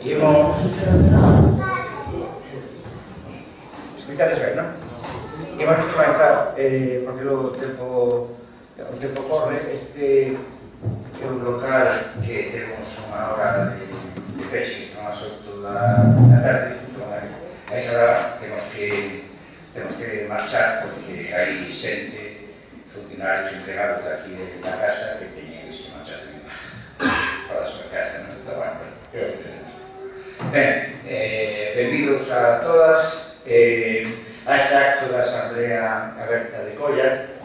Imos... Escoitades ben, non? Imos comenzar, porque o tempo corre. Este é un local que temos unha hora de peche, non? As 8 da tarde. A esa hora temos que marchar, porque hai xente, funcionarios entregados daqui da casa que teñen que marchar para a súa casa, non? Pero bueno, creo que tenemos. Ben, benvidos a todas a este acto da Asamblea Aberta de Colla.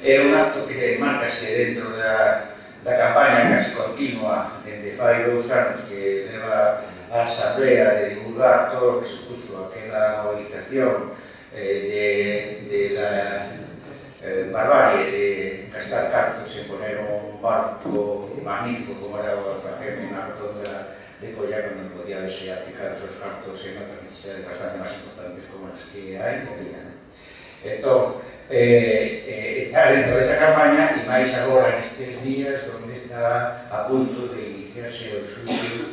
É un acto que marcase dentro da campaña casi continua dende fai 2 anos que leva a Asamblea de divulgar todo o que supuso aquela movilización de la barbarie de gastar cartos en poner un barco magnífico como era o Alfajeme na rotonda de Colla, onde podía verse aplicados os cartos en outras necesidades bastante máis importantes como as que hai que había. Entón, está dentro desa campaña e máis agora nestes días onde está a punto de iniciarse o xuicio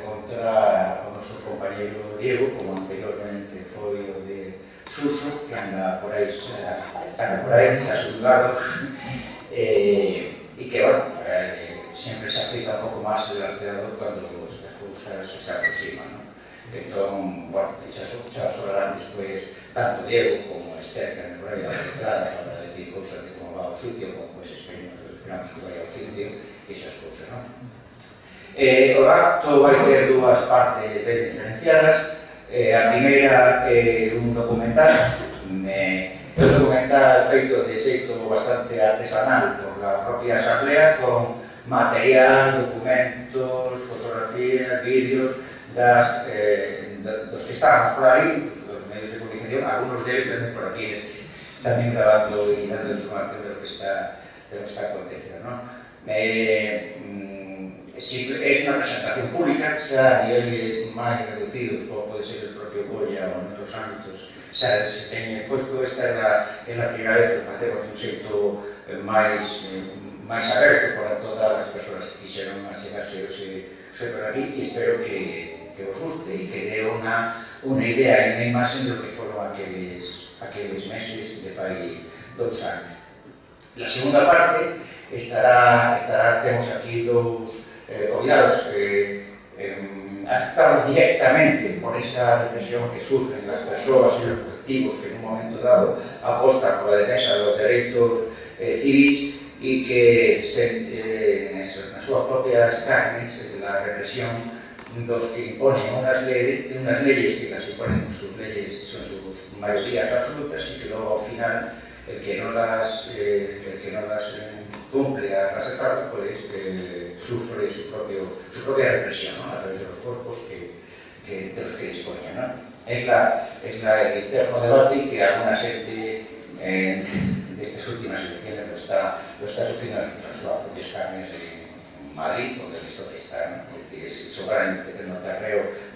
contra o noso compañeiro Diego, como anteriormente foi o de Suso, que anda por aí xa xulgado e que, bueno, sempre se aplica un pouco máis el arceador cando estas cousas se aproximan, non? Entón, bueno, xa sobrarán despois tanto Diego como Esther, que anda por aí a letrada para decir cousas de como va o sitio, como pues esperamos que vai ao sitio, esas cousas, non? O acto vai ter 2 partes ben diferenciadas. A primeira é un documental, feito de xeito bastante artesanal por la propia Asamblea, con material, documentos, fotografías, vídeos dos que estábamos por aí, dos medios de comunicación, algunos deles tamén por aquí, tamén grabando e dando información de lo que está acontecendo, non? É unha presentación pública, xa a niveles máis reducidos, como pode ser o propio Colla ou en outros ámbitos, xa se teñen posto. Esta é a primeira vez que facemos un xeito máis aberto para todas as persoas que quixeron achegarse por aquí, e espero que os guste e que dé unha idea e unha imagen do que foron aqueles meses de fai 2 anos. La segunda parte temos aquí 2 convidados afectados directamente por esa represión que sufren as persoas e os colectivos que en un momento dado apostan por a defensa dos dereitos civis e que nas súas propias carnes a represión dos que imponen unhas leyes que las imponen sus leyes, son sus mayorías absolutas, e que logo ao final el que non las cumple a aceptar, pues sufre su propia represión, ¿no? A través de los cuerpos de los que disponen, ¿no? Es el eterno debate que alguna gente de estas últimas elecciones lo está sufriendo en sus propias carnes en Madrid, donde esto está, ¿no? Que es soberanamente el terreno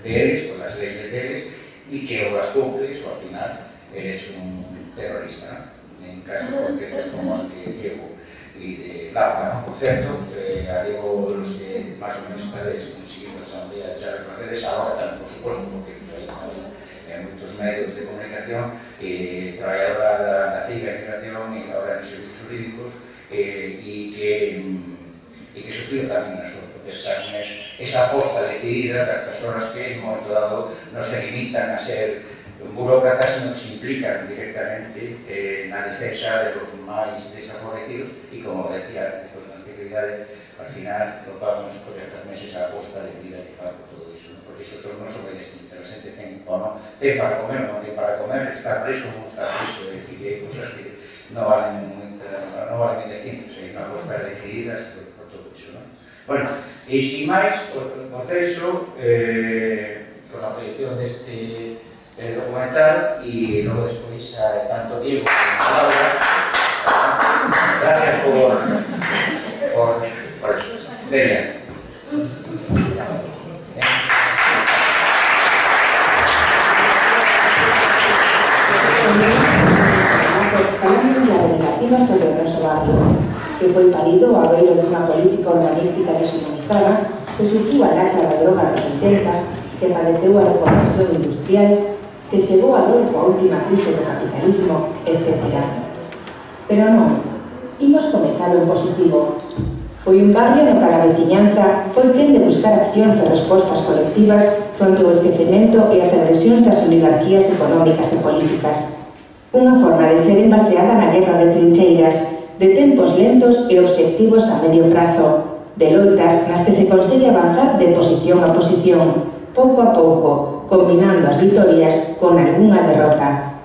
de ellos, con las leyes de ellos, y que o las cumples o al final eres un terrorista, ¿no? En casos concretos como el de Diego y de Laura, ¿no? Por cierto, a Diego, los que más o menos estáis siguiendo la Asamblea ya reconocedes, ahora también, por supuesto, porque hay muchos medios de comunicación, trabajadora da CIGA, Inmigración y ahora en servicios jurídicos, y que sufrió también en sus propias carnes esa aposta decidida de las personas que en un momento dado no se limitan a ser burócratas, sino que se implican directamente na defensa de los máis desfavorecidos e, como decía con anterioridade, al final lo pagan por estas meses a aposta decidida que paga por todo iso, ¿no? Porque iso son non sobre distintos, a xente ten ou non, ten para comer ou non ten para comer, está preso ou non está preso, e que hai cosas que non valen ben distintos, hai unha aposta decidida por todo iso, ¿no? Bueno, e sin máis, os deixo con a proyección deste documental y luego después tanto Diego como Laura. Gracias por eso. Delia. Sobre el Rosso Barrio, que fue parido a verlo de una política urbanística deshumanizada que sufriu a lacra da droga dos 80, que padeceu a reconversión industrial, que chegou a dor coa última crise do capitalismo, etc. Pero non, imos comezar en positivo. Foi un barrio no que a veciñanza foi quen de buscar accións e respostas colectivas fronte ao esquecemento e as agresións das oligarquías económicas e políticas. Unha forma de ser envaseada na guerra de trincheiras, de tempos lentos e obxectivos a medio prazo, de loitas nas que se consegue avanzar de posición a posición, pouco a pouco, combinando as vitorias con algunha derrota.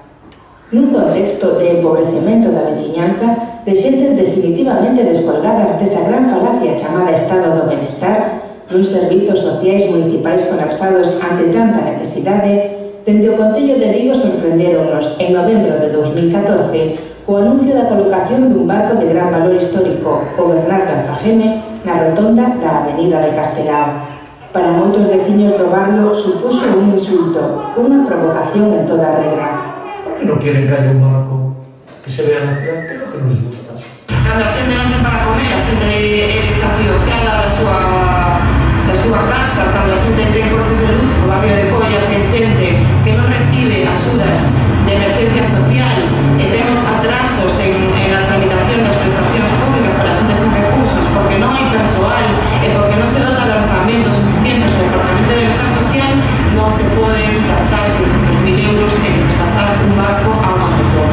Nun contexto de empobrecemento da veciñanza, de xentes definitivamente descolgadas desa gran falacia chamada Estado do Benestar, nuns servizos sociais municipais colapsados ante tanta necesidade, dende o Concello de Vigo sorprenderonnos en novembro de 2014 co anuncio da colocación dun barco de gran valor histórico, o Bernardo Alfageme, na rotonda da Avenida de Castelao. Para moitos veciños do barrio supuxo un insulto, unha provocación en toda regra. ¿Por qué no quieren que haya un barco que se vea na ciudad? Que é lo que nos gusta. Cando a xente non ten para comer, a xente é desafiocada da súa casa, cando a xente ten cortes de luz no barrio de Colla, ten xente que non recibe axudas de emergencia social e temos atrasos en a tramitación das prestacións públicas para a xente sen recursos porque non hai persoal e porque non se dota de orzamentos suficientes no Departamento de Bienestar Social, non se poden gastar 600.000 euros en traspasar un barco a unha mutua.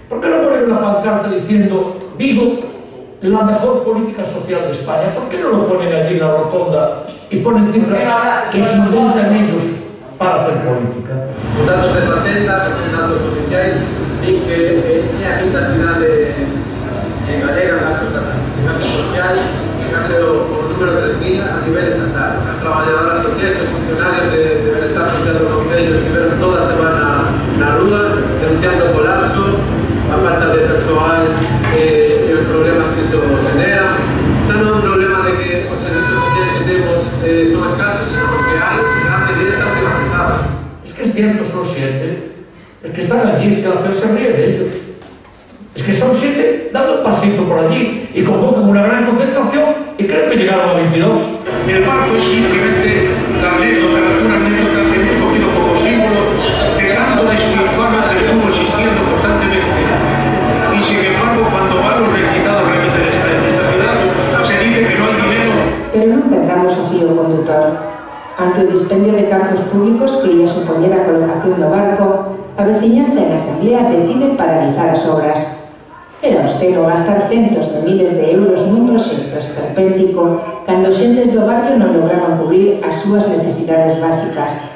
¿Por qué no ponen una pancarta diciendo Vigo, la mejor política social de España? ¿Por qué no lo ponen allí en la rotonda y ponen cifras que se inventan ellos para hacer política? Os datos de Facenda, que son datos oficiais, din que é a quinta cidade galega en gasto social, en case o número 3.000 a nivel estatal. As traballadoras sociais e funcionarios de Benestar Social do Concello estiveron toda a semana na rúa denunciando o colapso, a falta de persoal e os problemas que iso genera. Xa non é un problema de que os servizos sociais que temos son escasos, sino porque hai gran medida está privatizada. Es que es cierto, son 7. Es que están allí, es que la gente se ríe de ellos. Es que son 7 dando un pasito por allí y convocan una gran concentración y creen que llegaron a 22. El barco es simplemente una anécdota que hemos cogido como símbolo de gran despilfarro que estuvo existiendo constantemente. Y sin embargo, cuando van los recitados realmente de esta ciudad, se dice que no hay dinero. Pero non perdamos o fío condutor. Ante o dispendio de cargos públicos que ia supoñer a colocación do barco, a veciñanza en asamblea decide paralizar as obras. Era obsceno gastar centos de miles de euros nun proxecto esperpéntico cando xentes do barrio non lograban cubrir as súas necesidades básicas.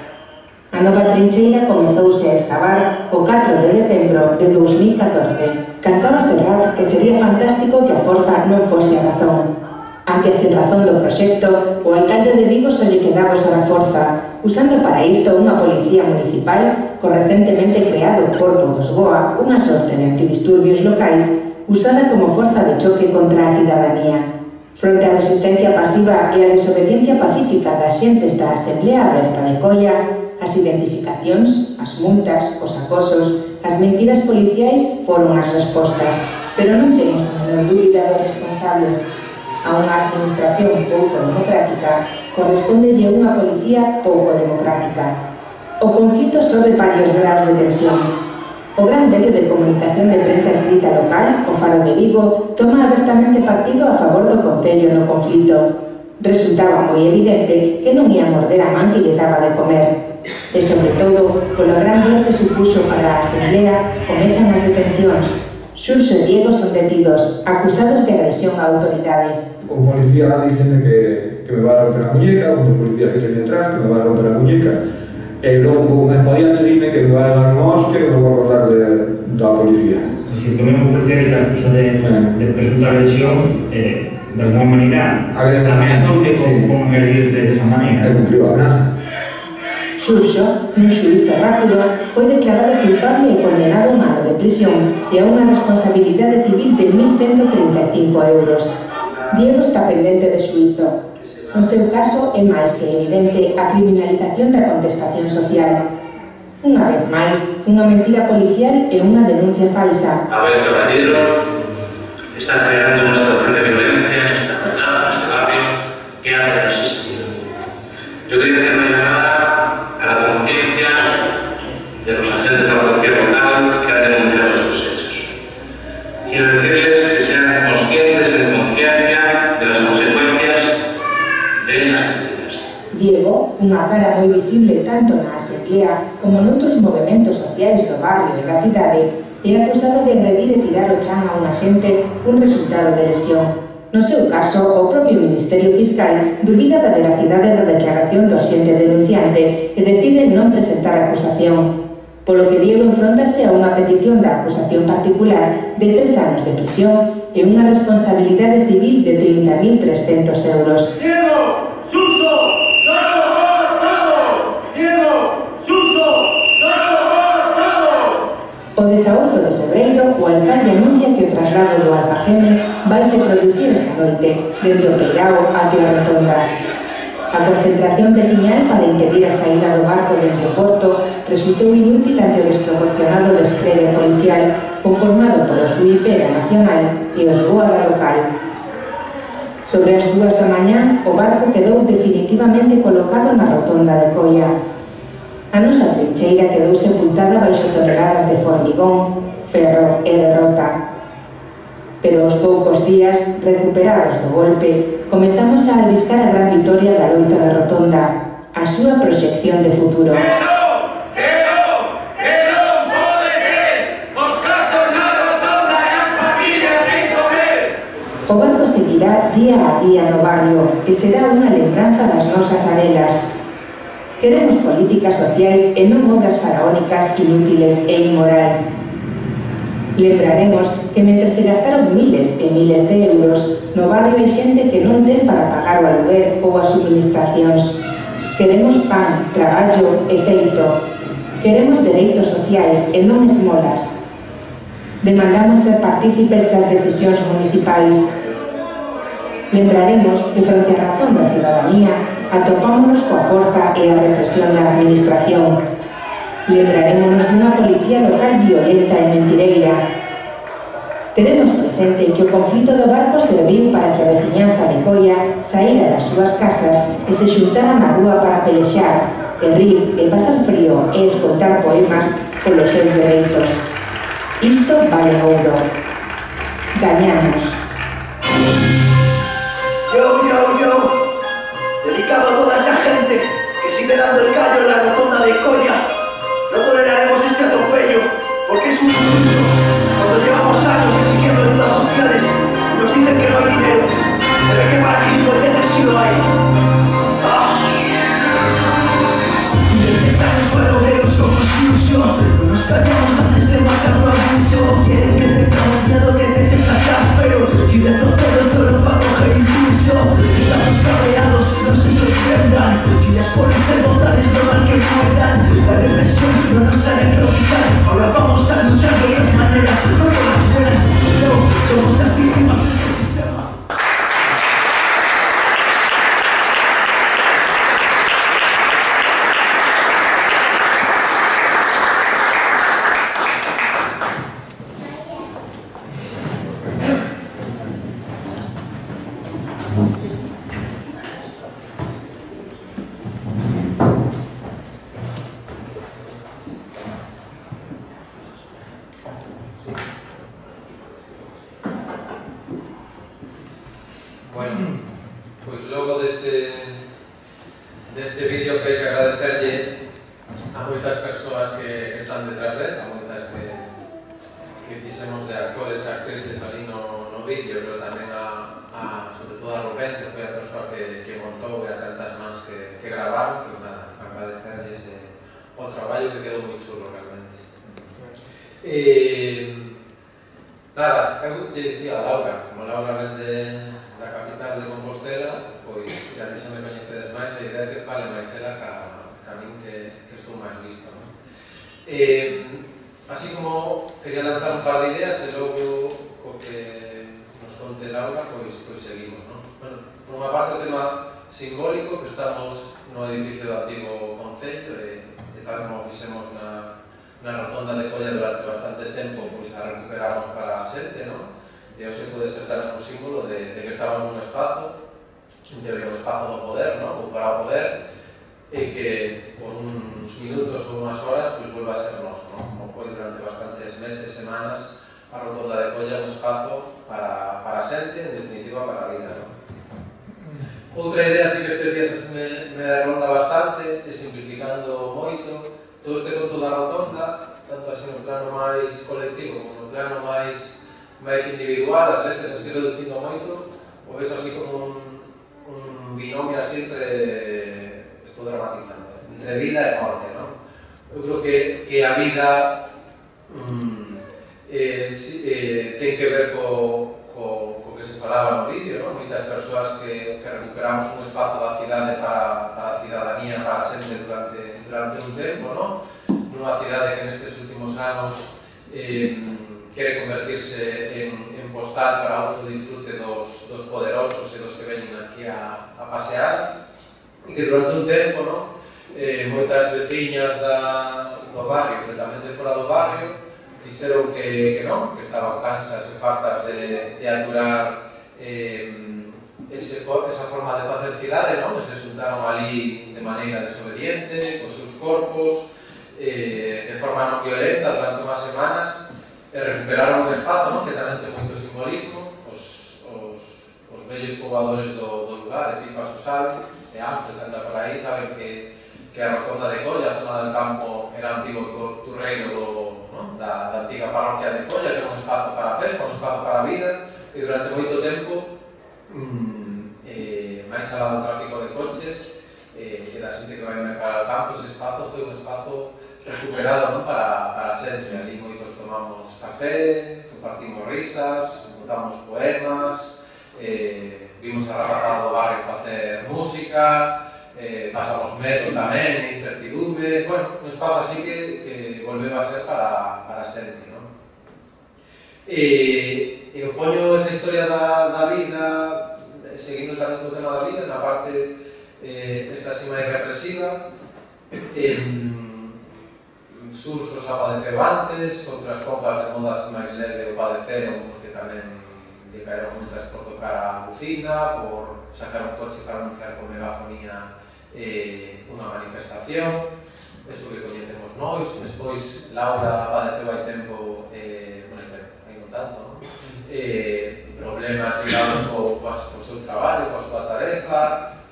A nova trincheira comezouse a excavar o 4 de decembro de 2014. Cantábase rap que sería fantástico que a forza non fose a razón. Ante a sinrazón do proxecto, o alcalde de Vigo só lle quedaba usar a forza, usando para isto unha policía municipal co recentemente creado Corpo dos Goa, unha sorte de antidisturbios locais, usada como forza de choque contra a cidadanía. Fronte á resistencia pasiva e a desobediencia pacífica das xentes da Asamblea Aberta de Colla, as identificacións, as multas, os acosos, as mentiras policiais foron as respostas, pero non temos a menor dúbida dos responsables. A unha administración pouco democrática correspondelle unha policía pouco democrática. O conflito sobe varios graus de tensión. O gran medio de comunicación de prensa escrita local, o Faro de Vigo, toma abertamente partido a favor do Concello no conflito. Resultaba moi evidente que non ia morder a man que lle daba de comer. E, sobre todo, polo gran dor que supuxo para a Asamblea, comezan as detencións. Xurxo e Diego son detidos, acusados de agresión á autoridade. O policía diceme que me va a romper a muñeca, un policía que ten detrás que me va a romper a muñeca, e logo un pouco máis podiante dime que me va a dar unha hostia que me vou acordar da policía. É dicir, que o mesmo policía que te acusa de presunta agresión, de alguma maneira, ameazoute con agredirte de esa maneira. E cumpliu a amenaza. Xurxo, nun xuízo rápido, foi declarado culpable e condenado a un ano de prisión e a unha responsabilidade civil de 1.135 euros. Diego está pendente de xuízo. No seu caso, é máis que evidente a criminalización da contestación social. Unha vez máis, unha mentira policial e unha denuncia falsa. A ver, compañeros, están creando unha situación de violencia en esta zona, en este barrio, que ha de no existir. Yo quería hacer una llamada a la conciencia de los agentes de la policía local que han denunciado estos hechos. Quiero decirles que sean conscientes en conciencia de las consecuencias de esas medidas. Diego, unha cara moi visible tanto na Asamblea como noutros movimentos sociais do barrio e da cidade, é acusado de agredir e tirar o chan a unha xente un resultado de lesión. No seu caso, o propio Ministerio Fiscal dubida da veracidade da declaración do axente denunciante e decide non presentar acusación, polo que Diego enfrontase a unha petición da acusación particular de 3 anos de prisión e unha responsabilidade civil de 30.300 euros. Diego Suso, ¡Salvo por Estado! Diego Suso, ¡Salvo por Estado! O 18 de febreiro, o alcalde anuncia que o traslado do Alfageme vaise producir esta noite, dende o Peirao até a Rotonda. A concentración veciñal para impedir a saída do barco dentro do porto resultou inútil ante o desproporcionado despliegue policial conformado polo Suipera Nacional e os Guarda Local. Sobre as 2 da mañá, o barco quedou definitivamente colocado na Rotonda de Coia. A nosa trincheira quedou sepultada baixo toneladas de formigón, ferro e derrota. Pero aos poucos días, recuperados do golpe, comezamos a albiscar a gran vitoria da loita da Rotonda, a súa proxección de futuro. O barco seguirá día a día no barrio e será unha lembranza das nosas arelas. Queremos políticas sociais e non obras faraónicas inútiles e inmorais. Lembraremos que mentre se gastaron miles e miles de euros, no barrio hai xente que non ten para pagar o aluguer ou as suministracións. Queremos pan, traballo e teito. Queremos dereitos sociais e non esmolas. Demandamos ser partícipes das decisións municipais. Lembraremos que fronte á razón da ciudadanía atopámonos coa forza e a represión da administración. Lembrarémonos dunha policía local violenta e mentireira. Teremos presente que o conflito do barco serviu para que a veciñanza de Coia saíra das súas casas e se xuntara na rúa para pelexar, e rir e pasar frío e escoitar poemas polos seus dereitos. Isto vale ouro. Gañamos. Yo, dedicado a toda esa gente que sigue dando el callo en la Rotonda de Coia. No toleraremos este atropello, porque es un insulto. Cuando llevamos años exigiendo ayudas sociales, nos dicen que no hay dinero. Se ve que para gilipolleces sí lo hay. Y 10 años fueron ellos como ilusión. No nos callamos antes de matar un abuso. Quieren que tengamos miedo, que te eches atrás, pero si retrocedo solo para coger impulso. Estamos cabreados, no se sorprendan. Si les pones en votar es normal que mueran. La represión no nos hará improvisar. Ahora vamos a luchar de otras maneras, no con las buenas. No, somos las víctimas de este sistema. Bueno, pois logo deste vídeo que hai que agradecerlle a moitas persoas que están detrás dele, a moitas que fixemos de actores e actrices ali no vídeo, pero tamén sobre todo a Rubén, que foi a persoa que montou, e a tantas mans que gravaron, que nada, agradecerlles o traballo que quedou moi chulo realmente. Nada, eu lle dicía a Laura, como Laura vende da capital de Compostela, pois xa xa me coñecedes máis, a idea que fale máis ela ca min que estou máis listo, non? Así como quería lanzar un par de ideas e logo o que nos conte Laura, pois seguimos, non? Bueno, por unha parte o tema simbólico, que estamos no edificio do antigo Concello e tal como fixemos na Rotonda de Coia durante bastante tempo, pois a recuperamos para a xente, non? E hoxe pode ser tamén un símbolo de que estamos nun espazo, en teoría un espazo do poder, non? Ou para o poder, e que por uns minutos ou unhas horas pues volva a ser noso, non? Como foi durante bastantes meses, semanas, a Rotonda de Colla un espazo para a xente, en definitiva para a vida, non? Outra idea así que estes días me ronda bastante, e simplificando moito, todo este conto da Rotonda, tanto así no plano máis colectivo como no plano máis individual, ás veces así reducindo moito, o ves así como un binomio así entre, estou dramatizando, entre vida e morte, non? Eu creo que a vida ten que ver co que se falaba no vídeo, non? Moitas persoas que recuperamos un espazo da cidade para a cidadanía, para a xente durante un tempo, non? Nunha cidade que nestes últimos anos quere convertirse en postal para uso e disfrute dos poderosos e dos que veñen aquí a pasear, e que durante un tempo, non? Moitas veciñas do barrio, completamente fora do barrio, dixeron que non, que estaban cansas e fartas de aturar esa forma de facer cidade, non? Se xuntaron ali de maneira desobediente, cos seus corpos, de forma non violenta durante unhas semanas, e recuperaron un espazo, non? Que tamén ten moito simbolismo. Os vellos poboadores do lugar, e Pipas o sabe, e Ángel que anda por aí, saben que a Rotonda de Colla, a zona del campo, era antigo turreiro da antiga parroquia de Colla, que era un espazo para a festa, un espazo para a vida, e durante moito tempo, máis alá do tráfico de coches e da xente que vai mercar ao campo, ese espazo foi un espazo recuperado para a xente. Ali moitos tomamos café, compartimos risas, contamos poemas, vimos a rapazada do barrio facer música, pasamos medo tamén, incertidumbre, bueno, un espazo así que volveu a ser para a xente, non? E eu poño esa historia da vida, seguindo tamén co tema da vida, na parte esta así máis represiva, sursos a padeceu antes, outras compas de moda así máis leve o padeceron, porque tamén lle caeron multas por tocar a bucina, por sacar un coche para anunciar con megafonía unha manifestación, eso que coñecemos nós. Despois Laura padeceu hai tempo, hai non tanto, non? Problemas ligados co seu traballo, coa súa tarefa,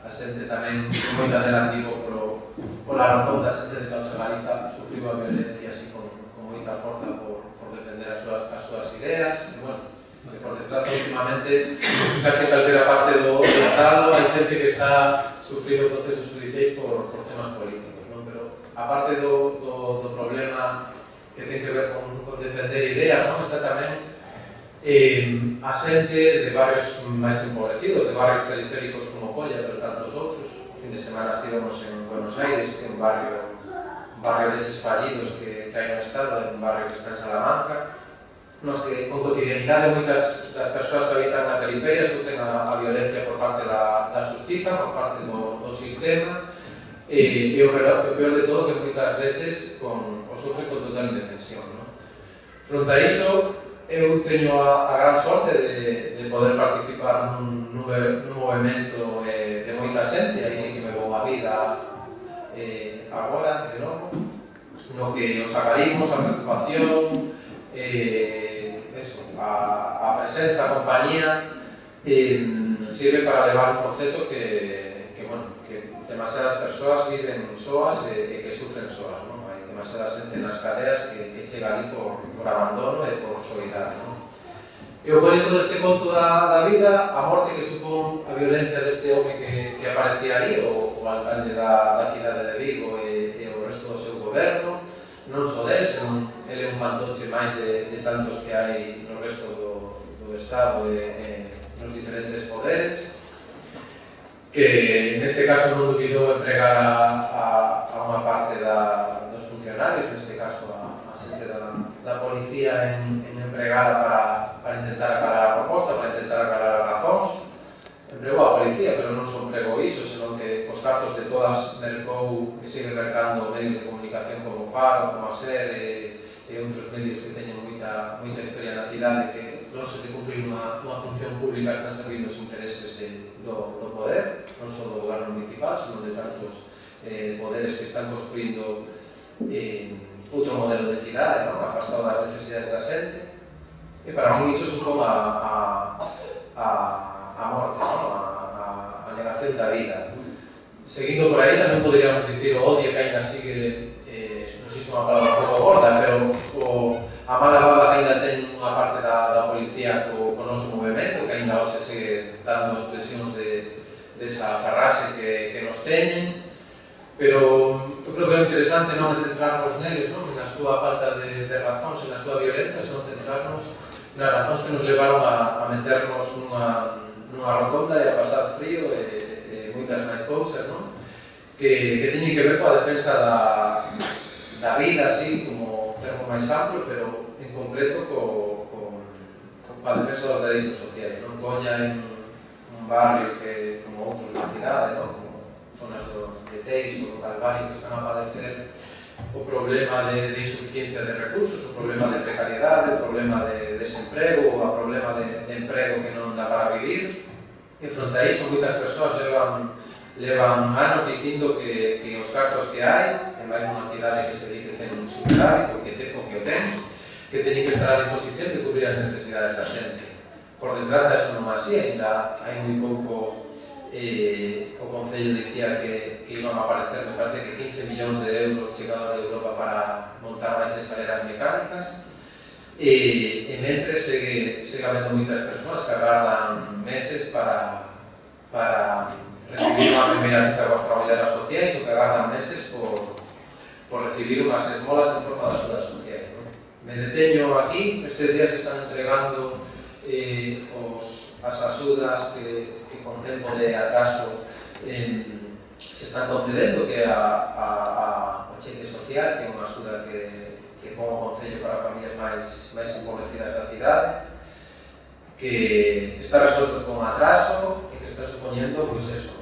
a xente tamén moi adelantado pola Rotonda, a xente de Causa Galiza sufriu a violencia así con moita forza por defender as súas ideas, e bueno, por desgracia últimamente casi calquera parte do Estado hai xente que está sufrindo procesos judiciais por temas políticos, non? Pero aparte do problema que ten que ver con defender ideas, non? Está tamén a xente de barrios máis empobrecidos, de barrios periféricos como Colla, pero tantos outros. O fin de semana estivemos en Buenos Aires, que é un barrio deses fallidos que hai no Estado, un barrio que está en Salamanca, nos que con cotidianidade moitas das persoas que habitan na periferia sufren a violencia por parte da xustiza, por parte do sistema, e o peor de todo que moitas veces o sufren con total indefensión, non? Fronte a iso, eu teño a gran sorte de poder participar nun movimento de moita xente, aí sí que me vou a vida agora, de novo, no que os acarimos, a preocupación, a presenza, a compañía, sirve para levar un proceso que demasiadas persoas viven soas e que sufren soas, non? Hai demasiada xente nas cadeas que chega ali por abandono e por soidade, non? Eu poño todo este conto da vida, a morte que supón a violencia deste home que aparecía aí, o alcalde da cidade de Vigo e o resto do seu goberno, non só del, senón ele é un fantoche máis de tantos que hai no resto do Estado e nos diferentes poderes, que neste caso non dubidou empregar a unha parte dos funcionarios, neste caso a xente da policía en empregada para intentar acalar a proposta, para intentar acalar as razóns. Empregou a policía, pero non só empregou iso, senón que os cartos de todas mercou e sigue mercando medios de comunicación como Faro, como a SER e outros medios que teñen moita historia na cidade, que non se de cumprir unha función pública están servindo os intereses do poder, non só do goberno municipal, senón de tantos poderes que están construindo outro modelo de cidade, afastado das necesidades da xente, e para mí iso supón a morte, a negación da vida. Seguindo por aí, tamén poderíamos dicir o odio que ainda sigue, non sei se é unha palabra un pouco gorda, pero a mala baba que ainda ten unha parte da policía co noso movimento, que ainda hoxe segue dando expresións desa farrase que nos teñen, pero eu creo que é interesante non centrarnos neles, na súa falta de razóns e na súa violencia, senón centrarnos nas razóns que nos levaron a meternos nunha rotonda e a pasar frío e moitas máis cousas, que teñen que ver coa defensa da vida, así como termo máis amplo, pero en concreto coa defensa dos dereitos sociais. Coña en un barrio que, como outros na cidade, como zonas de Teis ou do Calvario, que están a padecer o problema de insuficiencia de recursos, o problema de precariedade, o problema de desemprego, o problema de emprego que non dá para vivir. E fronte a iso, moitas persoas levan anos dicindo que os cartos que hai, en máis unha cidade que se dice que ten un superávit, o que o ten, que teñen que estar a disposición de cubrir as necesidades da xente. Por desgracia, eso non é así, ainda hai moi pouco. O Concello dicía que iban a aparecer, me parece que 15 millóns de euros chegados de Europa para montar máis escaleras mecánicas, e mentre segue habendo moitas persoas que agardan meses para recibir unha primeira cita coas traballadoras sociais, ou que agardan meses por recibir unhas esmolas en forma de axudas sociais. Me deteño aquí, estes días se están entregando as axudas que con tempo de atraso se están concedendo, que o cheque social, que é unha axuda que pon o Concello para familias máis empobrecidas da cidade, que está resolto con atraso e que está supoñendo,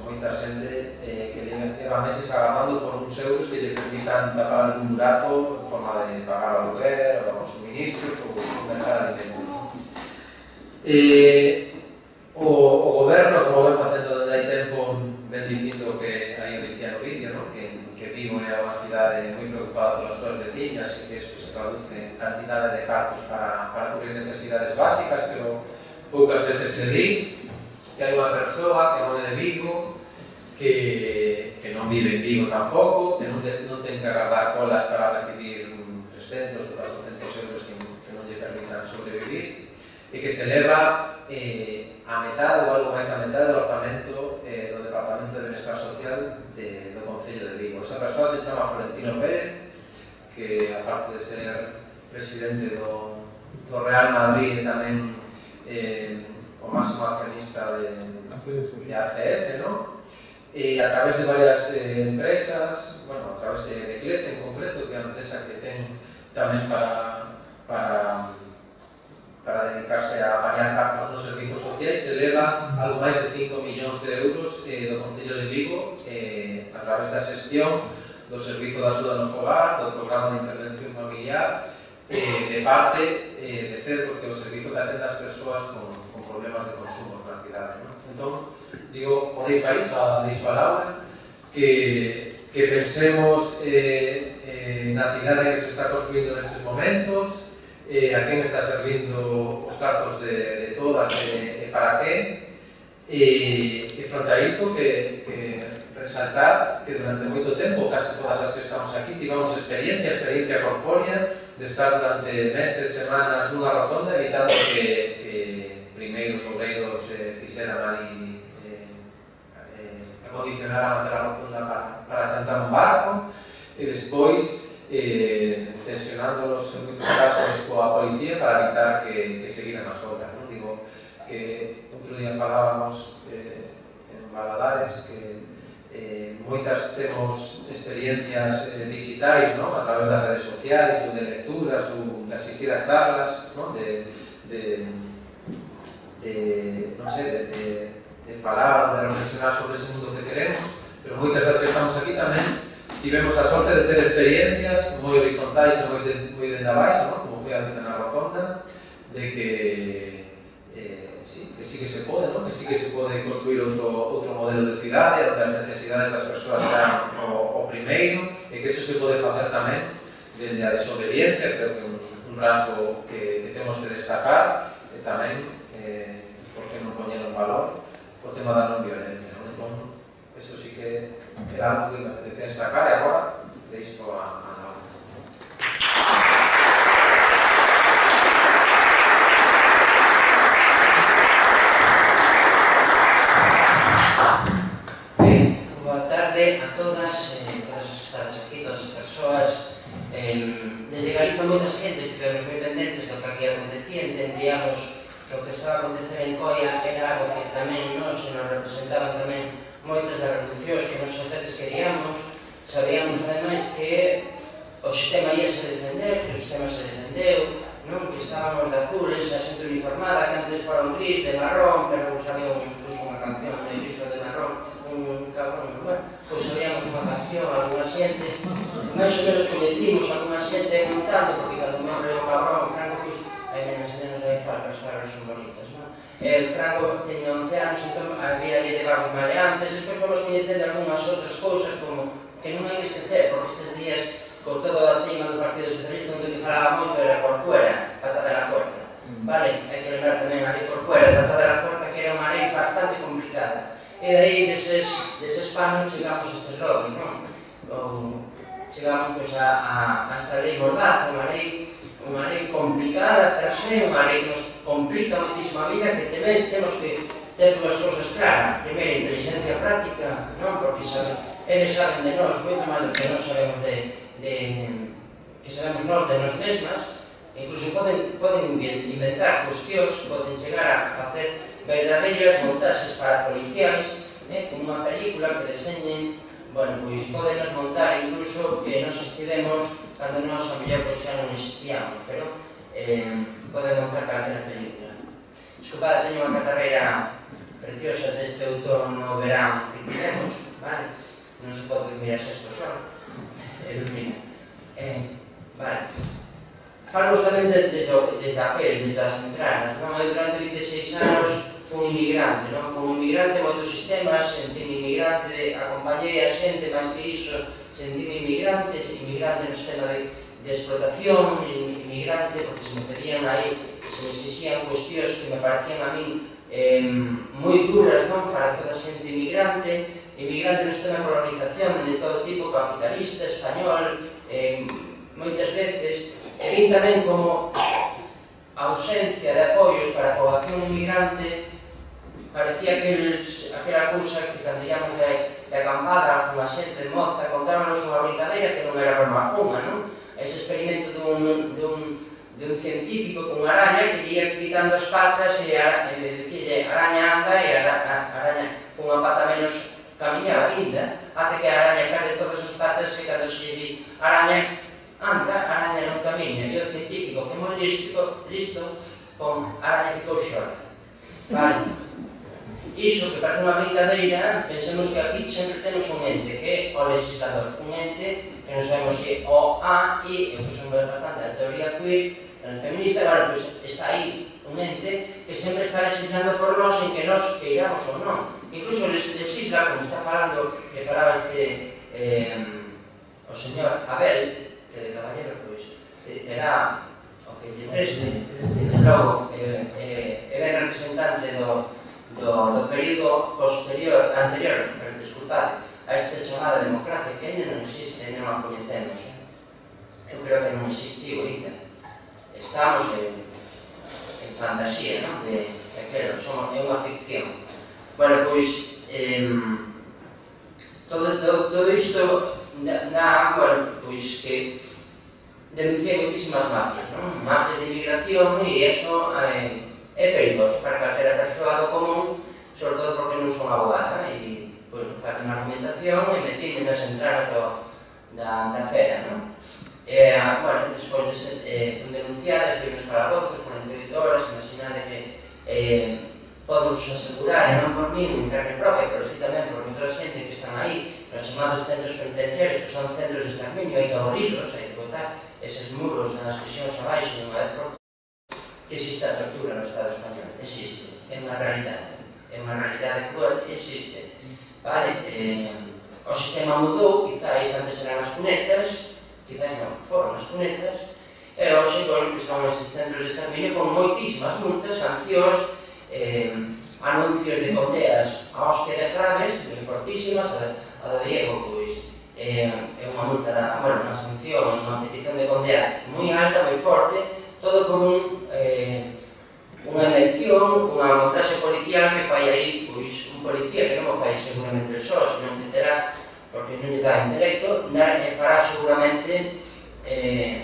moita xente que leva meses agardando por uns euros que lle permitan tapar algún burato en forma de pagar o aluguer, ou os suministros, ou mercar alimentos. O goberno, como ven facendo desde hai tempo, ven dicindo que aí o dicía no vídeo, que Vigo é unha cidade moi preocupada polas súas veciñas e que isto se traduce en cantidade de cartos para cubrir necesidades básicas, pero poucas veces se di que hai unha persoa que non é de Vigo, que non vive en Vigo tampouco, que non ten que agardar colas para recibir 300 ou 400 euros que non lle permitan sobrevivir, e que se leva a metade ou algo máis da metade do orzamento do Departamento de Benestar Social do Concello de Vigo. Esa persoa se chama Florentino Pérez, que aparte de ser presidente do Real Madrid, tamén o máximo accionista de ACS, e a través de varias empresas, a través de Clece en concreto, que é a empresa que ten tamén para dedicarse a apañar cartos nos servizos sociais, se leva algo máis de 5 millóns de euros do Concello de Vigo a través da xestión do Servizo de Axuda no Fogar, do Programa de Intervención Familiar, de parte de CED, porque o servizo que atende as persoas con problemas de consumo na cidade. Entón, digo, podeis falar que pensemos na cidade que se está construindo nestes momentos, a quen está servindo os cartos de todas e para que, e fronte a isto que resaltar que durante moito tempo, case todas as que estamos aquí, tivemos experiencia corpórea de estar durante meses, semanas nunha rotonda evitando que primeiros obreiros fixeran ali acondicionaran a rotonda para xantar un barco, e despois tensionándolos en moitos casos coa policía para evitar que seguiran as obras. Digo que outro día falábamos en Valadares que moitas temos experiencias digitais a través das redes sociais ou de lecturas ou de asistir a charlas de falar ou de reflexionar sobre ese mundo que queremos, pero moitas das que estamos aquí tamén tivemos a sorte de ter experiencias moi horizontais e moi dende abaixo, como foi a vida na rotonda, de que sí que se pode, ¿no? Que sí que se pode construir outro modelo de cidade onde as necesidades das persoas sean o primeiro, e que eso se pode facer tamén desde a desobediencia, creo que un rasgo que temos que destacar, e tamén, por que non poñer en valor, o tema da non violencia, non? Entón, eso sí que era algo que me apetecía destacar, e agora deixo a Laura. Boa tarde a todas as que estades aquí, todas as persoas. Desde Galiza moita xente estivemos moi pendentes do que aquí acontecía, entendíamos que o que estaba a acontecer en Coia era algo que tamén nos representaban tamén moitas das revolucións que nos xefetes queríamos. Sabíamos ademais que o sistema ia se defender, que o sistema se defendeu, non? Que estábamos de azules, a xente uniformada, que antes fora un gris, de marrón, pero sabía incluso unha canción de gris ou de marrón, un cabrón, bueno, pois sabíamos unha canción, alguna xente, máis ou menos coñecimos alguna xente montando, porque cando morre o cabrón, Franco, pois, hai menos e menos aí para as palabras son bonitas, non? Franco teña 11 anos, entón había ali de vagos maleantes, despois fomos coñecendo algunhas outras cousas, como que non hai que esquecer, porque estes días, con todo o tema do Partido Socialista, onde que falaba moito era Corcuera, Pata de la Puerta, vale? Hai que lembrar tamén a lei Corcuera, Pata de la Puerta, que era unha lei bastante complicada. E daí, deses panos, chegamos a estes lodos, non? Chegamos, pois, a esta lei Mordaza, unha lei complicada per se, unha lei que nos complica moitísima a vida, que tamén temos que ter dúas cousas claras. Primeiro, inteligencia práctica, non? Porque eles saben de nós moito máis do que nós sabemos que sabemos nós de nós mesmas, incluso poden inventar cuestións, poden chegar a facer verdadeiras montaxes para policiais, como unha película que deseñen, bueno, pois podenos montar incluso que nos estivemos cando nós a mellor pois xa non existíamos, pero poden montar calquera película. Desculpad, teño unha catarreira preciosa deste outono verán que tivemos, vale? Non se pode mirar isto só, vale. Falamos tamén desde a pel, desde as entradas, non? Eu durante 26 anos fui inmigrante, non? Fui inmigrante en moitos sistemas, sentime inmigrante, acompañei a xente, máis que iso, sentime inmigrante no sistema de explotación, inmigrante, porque se me pedían aí, se me exixían cuestións que me parecían a min moi duras, non? Para toda a xente inmigrante no sistema de colonización de todo tipo, capitalista, español, moitas veces, e vi tamén como a ausencia de apoios para a poboación inmigrante parecía aquela cousa que cando íamos de acampada con a xente moza contábanos unha brincadeira que non era barmajunga, non? Ese experimento dun científico con unha araña que lle ia quitando as patas e dicíalle araña anda e a araña con unha pata menos camiñaba ainda, até que a araña perde todas as patas e cando se lle di araña anda, a araña non camiña, e o científico que moi listo, con a araña ficou xorda. Vale? Iso que parece unha brincadeira, pensemos que aquí sempre temos un ente, que é o legislador, un ente que non sabemos se o A, I, eu que son bastante da teoría queer, feminista, bueno, pois está aí un ente que sempre está legislando por nós en que nós queiramos ou non. Incluso legisla, como está falando, que falaba o señor Abel, que de caballero, pois, terá o que lle preste, logo, é ben representante do período posterior, anterior, disculpad, a esta chamada democracia que ainda non existe, ainda non a coñecemos. Eu creo que non existiu ainda. Estamos en fantasía, non? É unha ficción. Bueno, pois, todo isto dá, bueno, pois que denunciei moitísimas mafias, non? Mafias de inmigración e iso é perigoso para calquera persoa do común, sobre todo porque non son abogada, e, bueno, fago unha argumentación e metíme nas entradas da fera, non? Bueno, despois fun denunciada, estive nos calabozos, 48 horas, imaginade que podemos asegurar, e non por mí, en carne propia, pero sí tamén por outra xente que están aí, nos chamados centros penitenciarios, que son centros de exterminio, hai que abolilos, hai que botar eses muros das prisións abaixo, unha vez por todas, que existe a tortura no Estado español, existe, é unha realidade cruel e existe. Vale? O sistema mudou, quizáis antes eran as cunetas, quizáis non, foron as cunetas, e hoxe, bueno, que son estes centros de exterminio con moitísimas multas, sancións, anuncios de condeas a hostia de graves, moi fortísimas, a de Diego, pois, é unha multa, bueno, unha sanción, unha petición de condea moi alta, moi forte, todo por unha invención, unha montaxe policial que fai aí, pois, un policía que non o fai seguramente só, senón que terá, porque non lle dá intelecto, fará seguramente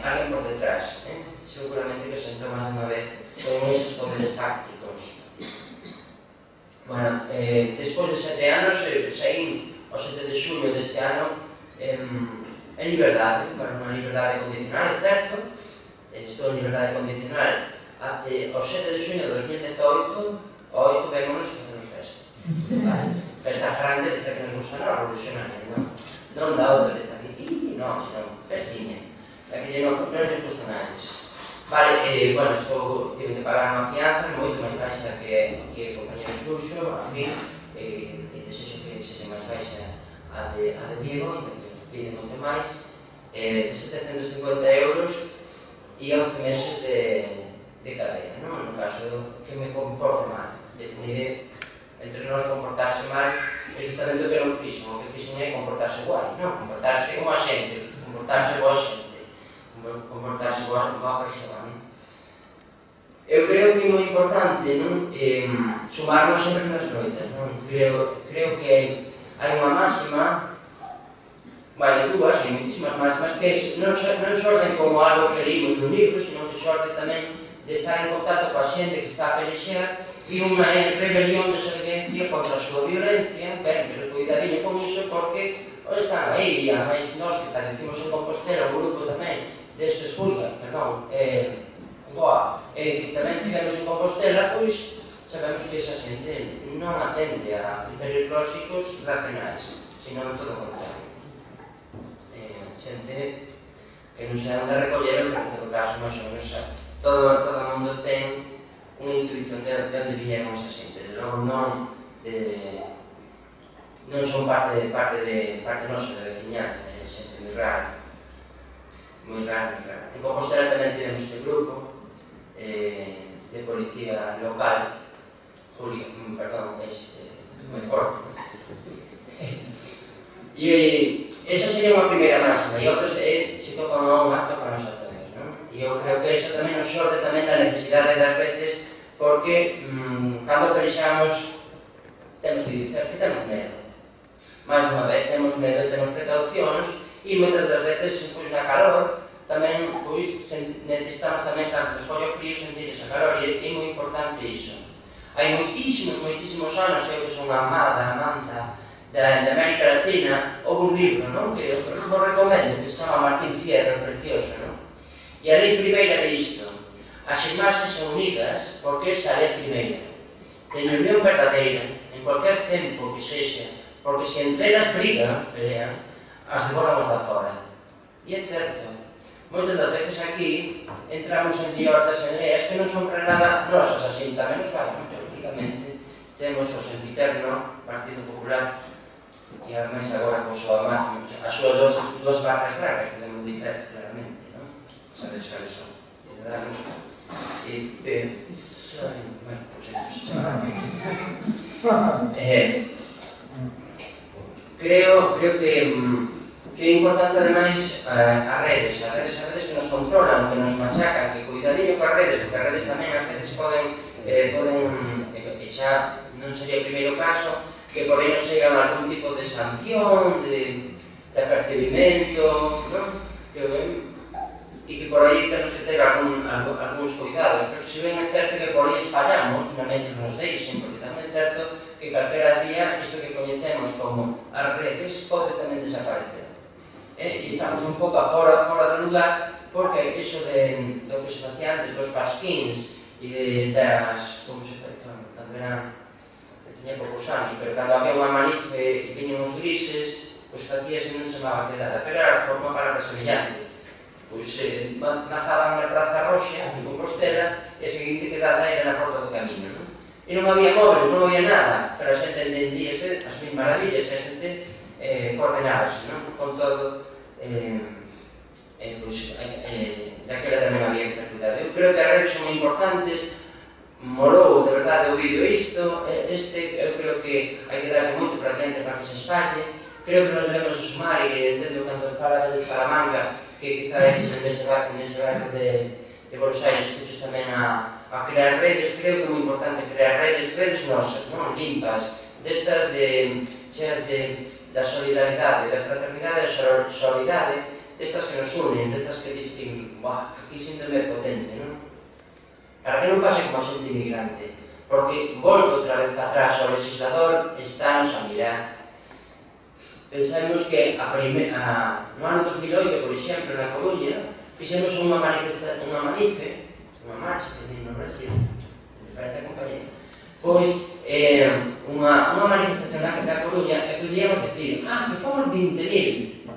alguén por detrás, seguramente que sentou máis unha vez con esos poderes tácticos. Bueno, despois de 7 anos, saín o 7 de xulio deste ano en liberdade, unha liberdade condicional, é certo, estou en liberdade condicional até o 7 de xulio de 2018, o 8 vémonos e facemos festa. Festa grande, desde que nos gusta a revolucionaria, non da outra desta aquí, non, senón festinha. Aquelle non nos gusta nada. Vale, bueno, tive que pagar unha fianza moito máis baixa que o compañero Xuxo, a fin, e desexo que sexa máis baixa a de Diego, que pide moito máis, de 750 euros e 11 meses de cadea, non? No caso que me comporte mal, definiré entre nós comportarse mal é justamente o que non fixen, o que fixen é comportarse guai, non? Comportarse como a xente, comportarse boa xente, comportarse boa persoa, non? Eu creo que é moi importante, non? Sumarnos sempre nas loitas, non? Creo que hai unha máxima, vai, dúas, hai moitísimas máximas, que non xorden como algo que leímos no libro, senón que xorde tamén de estar en contacto coa xente que está a pelexear e unha rebelión de desobediencia contra a súa violencia, ben, pero cuidadinho con iso porque están aí, a máis nós que padecimos en Compostela, un grupo tamén destes Julia, perdón, Goa, e tamén tivemos en Compostela, pois sabemos que esa xente non atende a criterios lóxicos racionais, senón todo o contrario. Xente que non se dan de recoller, pero en todo caso, máis ou menos, todo o mundo ten unha intuición de onde viñeron esa xente, de logo non son parte nosa de veciñanza, é xente moi rara, moi rara. En Compostela tamén tivemos este grupo de policía local, Julio, perdón, moi forte. E esa sería unha primeira máxima, e outras se tocan a un acto para nos atender, non? E eu creo que esa tamén nos xorde tamén da necesidade das veces, porque cando pelexamos temos que dizer que temos medo. Mais unha vez, temos medo e temos precaucións, e moitas das veces, pois, na calor, tamén, pois, necesitamos tamén, cando nos colle o frío, sentir esa calor, e é moi importante iso. Hai moitísimos anos, eu que son amada da América Latina, houve un libro, non? Que eu vos recomendo, que se chama Martín Fierro, precioso, non? E a lei primeira de isto: as imaxes son unidas porque esa é a lei primeira. Teñen unión verdadeira, en cualquier tempo que sexa, porque se entre elas pelean, as devoramos da fora. E é certo. Moitas das veces aquí entramos en liortas, en leas que non son para nada nosas, así tamén nos vai, non? Teóricamente temos o sempiterno Partido Popular e ademais agora con as súas dúas barras brancas, podemos dizer claramente, non? Sabes cales son? Creo que é importante ademais as redes que nos controlan, que nos machacan, que cuidadinho coas redes, porque as redes tamén ás veces poden e xa non sería o primeiro caso, que por aí non chegan algún tipo de sanción, de apercibimento, non? E que por aí temos que ter algúns cuidados, pero se ben é certo que por aí espallamos, non é que nos deixen, porque tamén é certo que calquera día isto que coñecemos como as redes pode tamén desaparecer. E estamos un pouco fora do lugar, porque iso do que se facía antes dos pasquíns e das, como se fai, cando eran, tiña poucos anos, pero cando había unha manife e viñan os grises, pois facíase non chamaba quedada, pero era unha palabra semellante. Pois nazaban na Praza Roxa, en Compostela, e a seguinte quedada era na Porta do Camiño, non? E non había móveis, non había nada, pero a xente entendíase as mil maravillas, a xente coordenábase, non? Con todo, daquela tamén había que ter cuidado. Eu creo que as redes son moi importantes, molou de verdade o vídeo isto, eu creo que hai que darle moito para diante para que se espalle, creo que nos debemos sumar, e entendo cando fala de Salamanca, que quizá nese barco de Buenos Aires fuches tamén a crear redes. Creo que é moi importante crear redes nosas, non limpas, destas cheas da solidaridade, da fraternidade e da solidariedade, destas que nos unen, destas que dicen, aquí síntome potente, non? Para que non pase como a xente inmigrante, porque volto outra vez para atrás, o legislador estános a mirar. Pensamos que no ano 2008, por exemplo, na Coruña, fixemos unha marcha, que diz no Brasil, de frente a compañía, pois unha manifestación na Coruña, e podíamos decir, que fomos 20.000,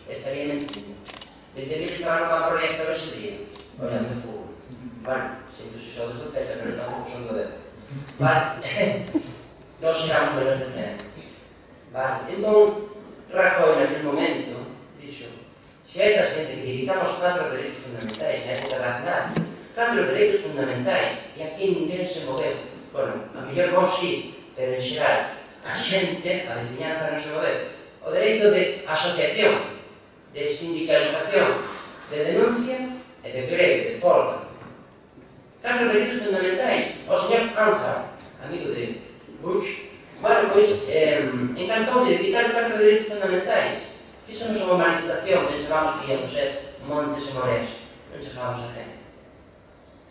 estaría mentindo. 20.000 estaban no campo de esta ese día, olhando o fútbol. Bueno, sinto se sodes do Celta, pero tampouco son do Celta. Vale, nós chegamos menos de 100. Vale, entón, Rajoy, naquele momento, dixo, se a esta xente que evitamos 4 dereitos fundamentais na época da Aznar, 4 dereitos fundamentais, e aquí ninguén se moveu. Bueno, a mellor vos sí, pero en xeral, a xente, a veciñanza non se moveu. O dereito de asociación, de sindicalización, de denuncia e de greve, de folga. 4 dereitos fundamentais. O señor Ansar, amigo de Bush, bueno, pois, encantou de quitar 4 dereitos fundamentais. Fixemos unha manifestación, pensábamos que íamos ser montes e moreas. Non chegábamos a 100.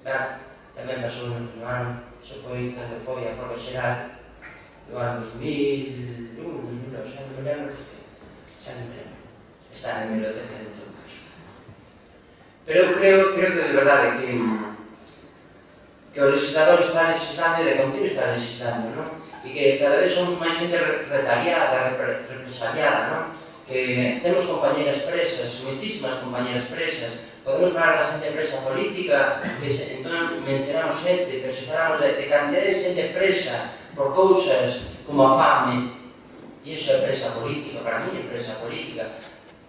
Ben, tamén pasou no ano, iso foi cando foi a folga xeral do ano 2001, 2002, xa non me lembro, está en biblioteca de todo caso. Pero creo que de verdade que o legislador está legislando e de continuo está legislando, non? E que cada vez somos máis xente retaliada, represaliada, non? Que temos compañeras presas, moitísimas compañeras presas. Podemos falar da xente presa política, que entón mencionamos xente, pero se falamos de cantidad de xente presa por cousas como a fame, e iso é presa política, para mí é presa política,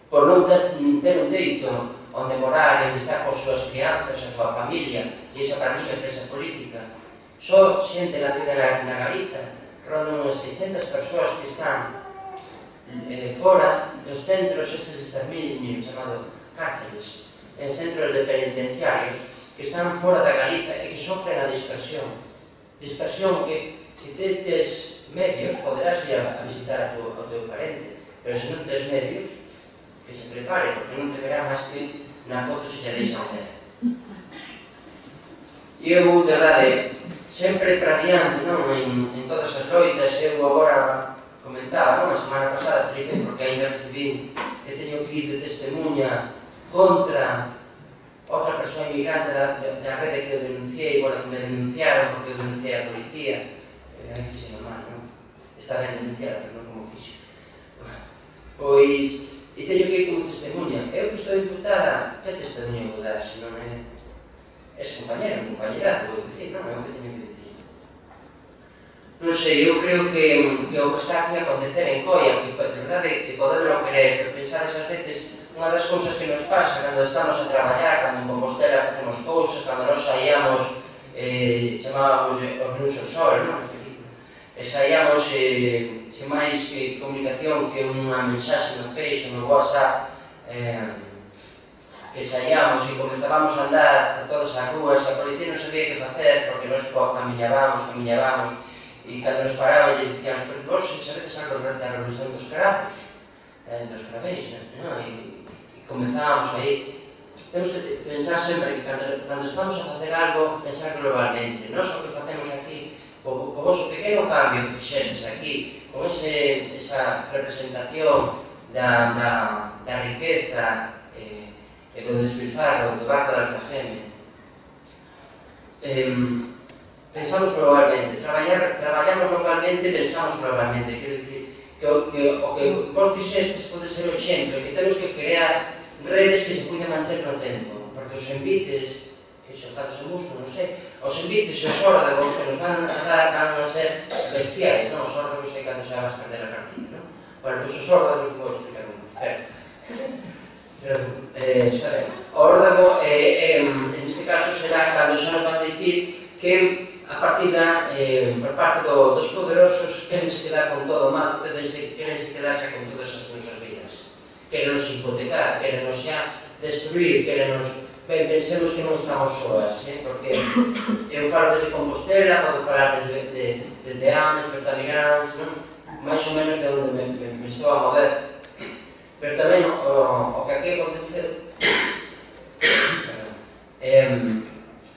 por non ter un teito onde morar e onde estar con súas crianzas, a súa familia, e esa para mí é presa política. Só xente nacida na Galiza, rodan unhas 600 persoas que están fora dos centros estes de exterminio chamado cárceles, en centros de penitenciarios que están fora da Galiza e que sofren a dispersión que se tes medios poderás ir a visitar ao teu parente, pero se non tes medios que se prepare, porque non te verá máis que na foto se lle deixa ter. E eu, de verdade, sempre para diante, en todas as loitas, eu agora comentaba, a semana pasada, Felipe, porque ainda recibí que teño que ir de testemunha contra outra persoa inmigrante da rede que eu denunciei, bueno, que me denunciaron porque eu denunciei a policía, aí fixe normal, non? Está ben denunciada, pero non como fixe. Pois, e teño que ir como testemunha. Eu que estou imputada, que testemunha vou dar, se non é... Es compañera, un compañerazo, vou dicir, non é o que teño que dicir. Non sei, eu creo que o que está aquí a acontecer en Coia, que de verdade que podemos creer, pero pensar esas veces, unha das cousas que nos pasa cando estamos a traballar, cando en Compostela facemos cousas, cando nos saíamos, chamábamos os luns ao sol, non? E saíamos sen máis comunicación que unha mensaxe no Facebook, no WhatsApp, que saíamos e comenzábamos a andar por todas as rúas, a policía non sabía que facer, porque nos camiñábamos, e cando nos paraban e dicíamos, pero vos sabedes algo da revolución dos cravos, dos cravéis, non? E comenzábamos aí. Temos que pensar sempre que cando estamos a facer algo, pensar globalmente. Nós o que facemos aquí, o vosso pequeno cambio que fixetes aquí, con esa representación da riqueza e do despilfarro do barco da Alfageme, pensamos globalmente, traballamos localmente, pensamos globalmente. Quero dicir que o que vos fixestes pode ser o exemplo, que temos que crear redes que se poden manter no tempo, porque os envites, que xo faz o musgo, non sei, os envites e os órdagos que nos van a dar van a ser bestiais, non? Os órdagos é cando xa vas perder a partida, non? Bueno, pois os órdagos vou explicar un pouco. Está ben. O órdago, neste caso, será cando xa nos van dicir que a partida, por parte dos poderosos, querense quedar con todo o mazo, querense quedar xa con todas as nosas vidas. Querenos hipotecar, querenos xa destruir, querenos... Ben, pensemos que non estamos soas, porque eu falo desde Compostela, podo falar desde Ames, Bertamiráns, máis ou menos de onde me estou a mover. Pero tamén o que aquí aconteceu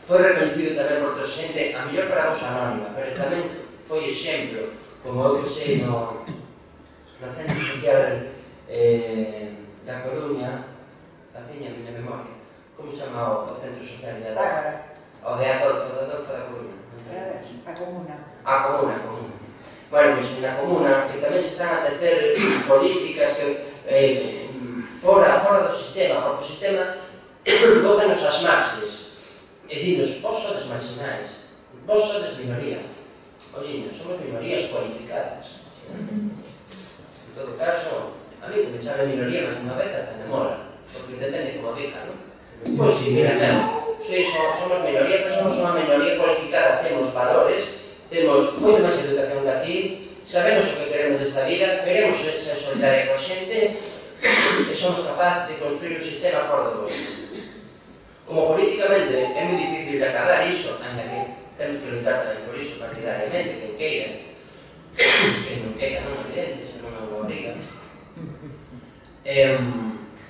foi reconhecido tamén por toda xente, a mellor para vos anónima, pero tamén foi exemplo, como eu que sei no Centro Social da Coruña, faciña a miña memoria, como chama o Centro Social de Adolfo? O de Adolfo da Coruña. A Comuna. A Comuna. Bueno, pois na Comuna, que tamén se están a tecer políticas que fora do sistema, porque o sistema bótanos as marxes e dinos, vos sodes marxinais, vos sodes minoría. Olliño, somos minorías cualificadas. En todo caso, a mí que me chame minoría máis unha vez hasta me mola, porque depende como diga, non? Pois si, mira, somos minoría, pero somos unha minoría cualificada, temos valores, temos moito máis educación que aquí, sabemos o que queremos desta vida, queremos ser solidaria coa xente e somos capaces de construir un sistema fora do bosque. Como políticamente é moi difícil de acadar iso, ainda que temos que lutar tamén por iso partidariamente, quen queira, quen non queira, non é evidente, se non nos obriga.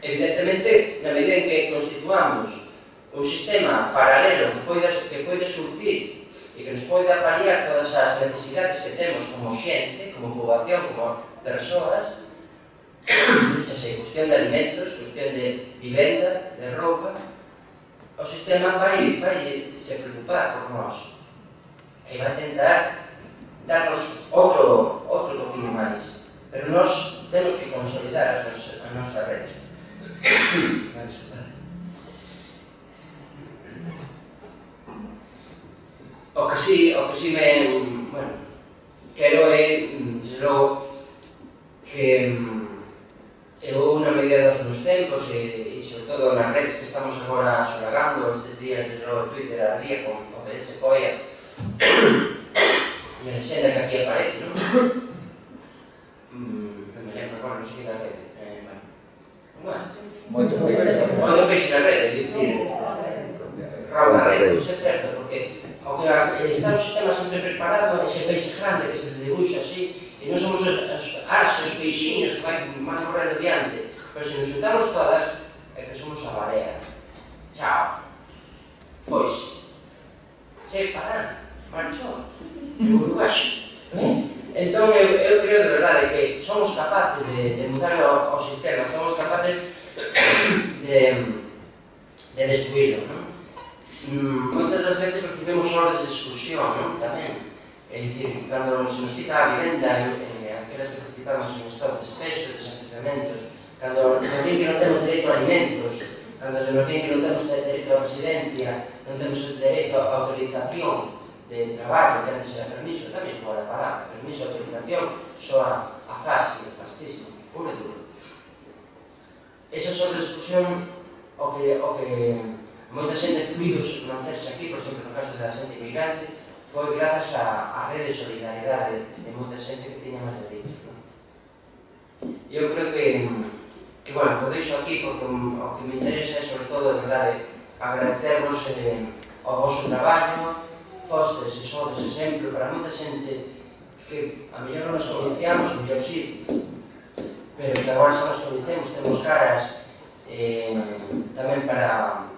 Evidentemente, na medida en que constituamos un sistema paralelo que pode surtir e que nos poida paliar todas as necesidades que temos como xente, como poboación, como persoas, cuestión de alimentos, cuestión de vivenda, de roupa, o sistema vai se preocupar por nós e vai tentar darnos outro toquinho máis, pero nós temos que consolidar a nosa rede. O que si me... bueno, quero é, desde logo, que eu na medida dos meus tempos e sobre todo nas redes que estamos agora solagando estes días, desde logo Twitter ardía con o de ese Coia e a lexenda que aquí aparece, non? Non me lembro agora, non sei que da rede. Moito peixe na rede, é dicir, rauda na rede, iso é certo, porque está o sistema sempre preparado, ese peixe grande que se debuxa así, e non somos os peixiños que vai correndo diante, pero se nos juntamos todas, é que somos a barea. Chao. Pois, pará, marchou, en Uruguaxe. Entón, eu creo de verdade que somos capaces de mudar o sistema, somos capaces de destruirlo, non? Moitas das veces recibimos horas de exclusión, non? Tamén. É dicir, cando se nos quita a vivenda, aquelas que participamos en estado de despecho, desafiuzamentos, cando nos din que non temos dereito a alimentos, cando nos din que non temos dereito a residencia, non temos dereito a autorización de traballo, que antes era permiso, tamén fora a palabra, permiso, autorización, soa a frase, o fascismo, puro e duro. Esas horas de exclusión, o que moita xente incluídos manterse aquí, por exemplo, no caso da xente inmigrante, foi grazas á rede de solidariedade de moita xente que tiña máis dereitos. Eu creo que bueno, o deixo aquí porque o que me interesa é, sobre todo, de verdade, agradecervos o vosso traballo, fostes e sodes exemplo para moita xente que a mellor non nos coñecíamos, a mellor sí, pero que agora xa nos coñecemos, temos caras tamén para...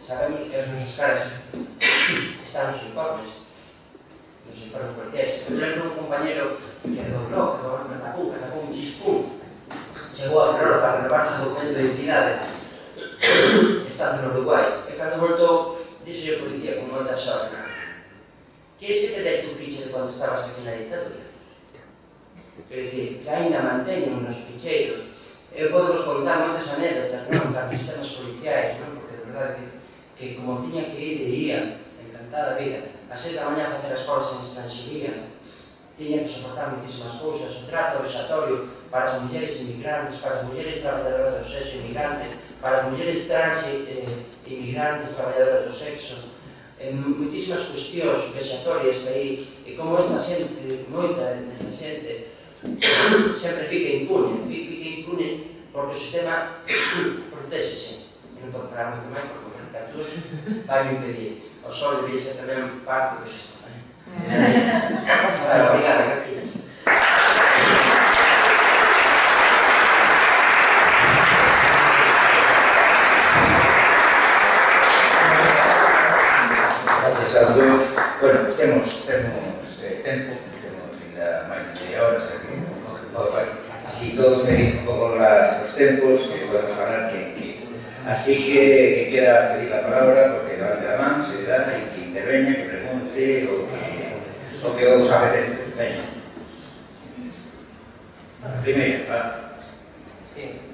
sabemos que as nosas caras están nos informes policiais. Eu lembro un compañero que era do blog, do Catapum, Chispum, chegou a Ferrol para renovar o documento de identidade estando no Uruguai, e cando voltou dixo a policía con moita sorte: queres que te dé tu ficha de cando estabas aquí na dictadura? Quer dicir, que ainda manteñen nos ficheiros. Eu podo vos contar moitas anécdotas, non? Para os sistemas policiais, non? Porque de verdade que como tiña que ir e ía, encantada vida, a 6 da mañá a facer as colas en estranxería, tiña que soportar moitísimas cousas, o trato vexatorio para as mulleres inmigrantes, para as mulleres traballadoras do sexo inmigrante, para as mulleres trans inmigrantes traballadoras do sexo, moitísimas cuestións vexatorias que aí, e como esta xente, moita desta xente, sempre fica impune porque o sistema protéxese. E non podo falar moito máis porque o caricatura vai me impedir. O sol debía ser tamén parte do sistema. Obrigada, gracias. Gracias aos dous. Bueno, temos tempo, temos ainda máis de media hora, xa que si todos medimos un pouco os tempos, que podemos falar que así que queda pedir a palabra, porque levante a man, se dá, e que interveña, que pregunte, o que os apetece. Veña. Primeiro, va.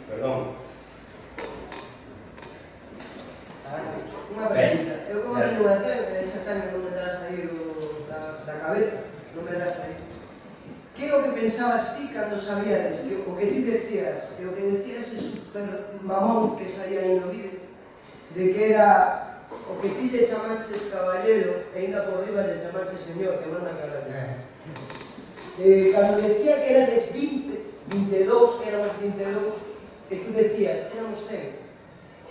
Perdón. Unha pregunta. Eu como digo a te, esa carne non me terá saído da cabeza, non me terá saído. Que é o que pensabas ti cando sabíades que o que ti decías, e o que decías ese super mamón que saía aí no vídeo, de que era o que ti lle chamaches caballero e ainda por riba lle chamaches señor, que manda caballero. Cando decía que erades 20, 22, que éramos 22, e tú decías, éramos 100,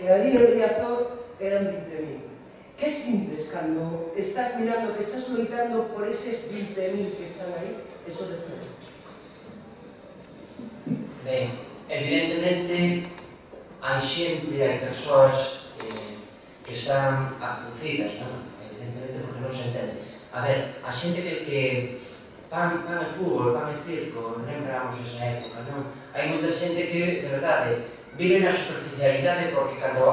e ali en Riazor eran 20.000. Que sintes cando estás mirando, que estás loitando por eses 20.000 que están aí? Eso después. Ben, evidentemente hai xente, hai persoas que están abducidas, non? Evidentemente porque non se entende. A ver, a xente que pan e fútbol, pan e circo, lembramos esa época, non? Hai moita xente que, de verdade, vive na superficialidade porque cando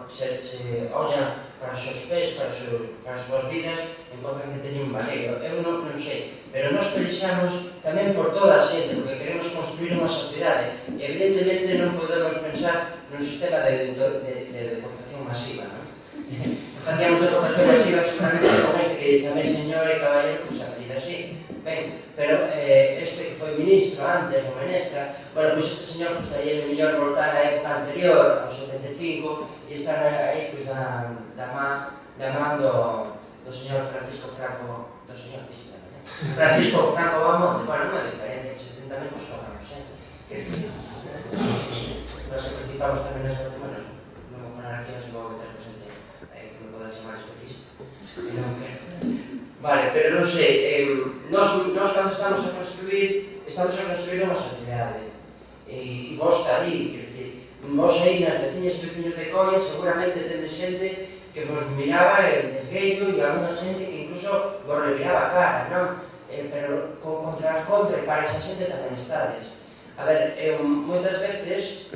se ollan para os seus pés, para as súas vidas, encontran que teñen un valeiro. Eu non sei, pero nós pelexamos tamén por toda a xente, porque queremos construir unha sociedade, e evidentemente non podemos pensar nun sistema de deportación masiva, non? Facíamos deportación masiva seguramente con este que chamei señor e caballero, pois a medida así. Ben, pero este que foi ministro antes, o Menestra, bueno, pois este señor gustaría mellor voltar á época anterior, aos 75, e estar aí pois da man do señor Francisco Franco, do señor Francisco Franco Bamonde. Bueno, non é diferente, que 70 menos sobramos, Nós participamos tamén nas bueno, non vou falar aquí, non se vou meter presente, que me poden chamar especista, que non quero. Vale, pero non sei, nós cando estamos a construir unha sociedade, e vos está aí, quer dicir, vos aí nas veciñas e veciños de Coia seguramente tendes xente que vos miraba en desgueiro e alguna xente que incluso vos reviraba a cara, non? Pero contra e para esa xente tamén estades. A ver, moitas veces,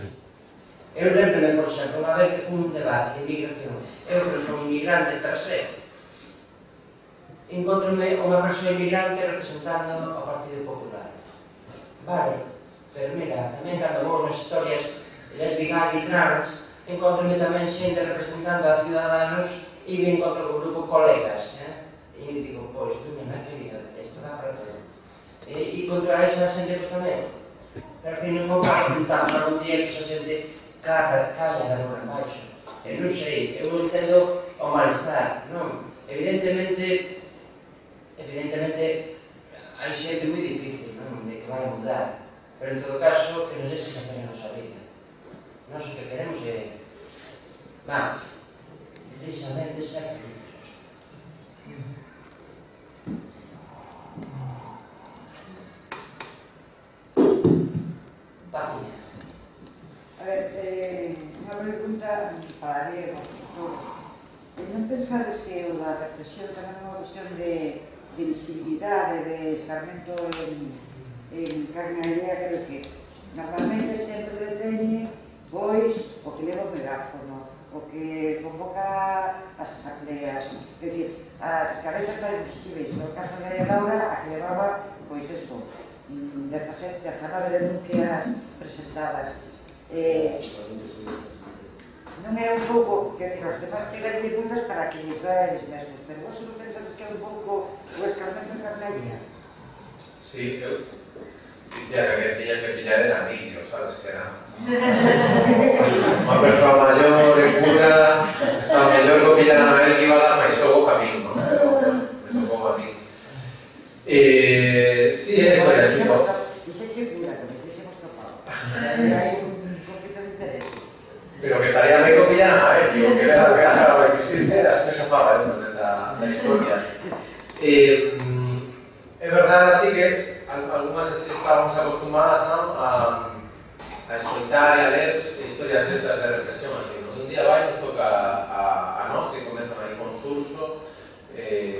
eu lembrome, por exemplo, unha vez que fun un debate de inmigración, eu que son inmigrante per se, encontrome unha persoa inmigrante representando o Partido Popular. Vale, pero mira, tamén cando vou nas historias lésbica e trans, encontrome tamén xente representando a Ciudadanos e me encontro con grupo colegas, e me digo, pois, miña querida, isto dá para todo. E contra esa xente pois tamén. Pero ao fin non preguntamos algún día que esa xente calla da rúa en baixo. Non sei, eu entendo o malestar, non? Evidentemente hai xente moi difícil, non? De que vai a mudar. Pero en todo caso, que nos deixe facer a nosa vida. Nós o que queremos é, vamos, precisamente ser felices. Paciencia. A ver, unha pregunta para Diego. Non pensades que a represión tamén é unha cuestión de visibilidade, de escarmento en carne allea, creo que normalmente sempre deteñe pois o que leva o megáfono, o que convoca as asambleas, é dicir, as cabezas máis visibles, no caso de Laura, a que levaba, pois eso, 17, 19 denuncias presentadas. non é un pouco, que os demás chegan de bundas para que lles dá eles mesmos, pero vos non pensades que é un pouco o escarmento de carnaría? Sí, eu dicía que a que tiña que pillar era a mí, sabes que era unha persoa maior e pura, estaba mellor que pillar a él que iba a dar máis xogo que a mí, non? Me tocou a mí. Sí, é eso, é así, non? Dixeche pura, que me dixemos topado. Hai un conflito de intereses. Pero que estaría ben que pillaran a él, digo, que era a requisite as que se faba da historia. É verdade, así que algunhas estábamos acostumadas, non, a escoitar e a ler historias destas de represión, así, non? Un día vai nos toca a nós, que comezan aí con Surso, que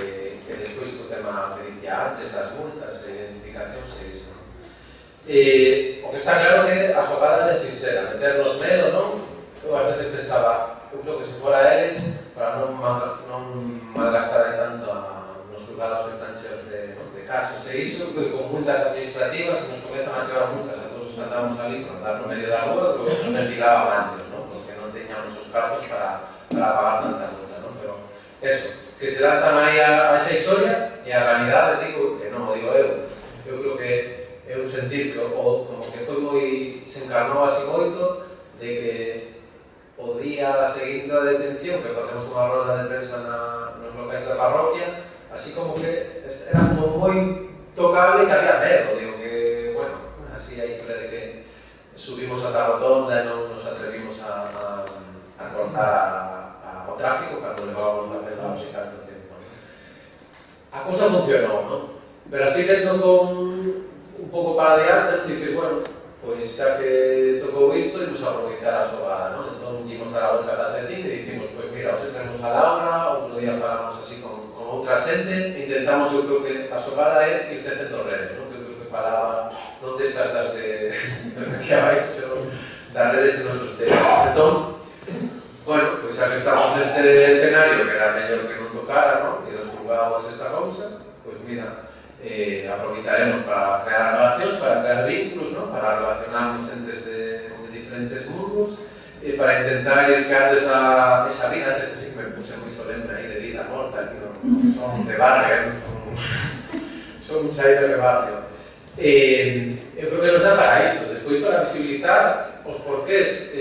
despois o tema que dicía antes, das multas, identificacións e iso. O que está claro que a xogada é sincera, meternos medo, non? Eu ás veces pensaba, eu creo que se fora eles, para non malgastar tanto nos juzgados que están cheos de casos e iso, que con multas administrativas, se nos comezan a chegar multas a todos os que andamos ali, por andar no medio da rúa, que nos ventilaban antes, non? Porque non teñamos os cartos para pagar tanta multa, non? Pero eso, que se lanzan aí a esa historia e a realidade, digo, que non o digo eu creo que é un sentir que como que foi moi, se encarnou así moito de que o día seguinte da detención, que facemos unha roda de prensa nos locais da parroquia, así como que era como moi tocable que había medo, digo que, bueno, así a historia de que subimos a la rotonda e non nos atrevimos a cortar o tráfico cando levábamos na celda e tanto tempo. A cousa funcionou, non? Pero así tendo con un pouco para adiante, dicir, bueno, pois xa que tocou isto, imos aproveitar a xogada, non? Entón, imos dar a volta a Calcetín e dicimos, pois mira, hoxe tenemos a Laura, outro día falamos así con outra xente, intentamos, eu creo que a xogada é ir tecendo redes, non? Eu creo que falaba, non destas das de que abais, das redes que nos sostenan. Entón, bueno, pois xa que estamos neste escenario, que era mellor que non tocara, non? E nos jugamos esta cousa, pois mira, aproveitaremos para crear relacións, para crear vínculos, ¿no? Para relacionarnos entes de diferentes mundos e para intentar ir creando esa vida. Antes sí que me puse moi solemne aí de vida morta, que non son de barrio, son saídas de barrio. Eu creo que nos dá para iso, despois para visibilizar os porqués,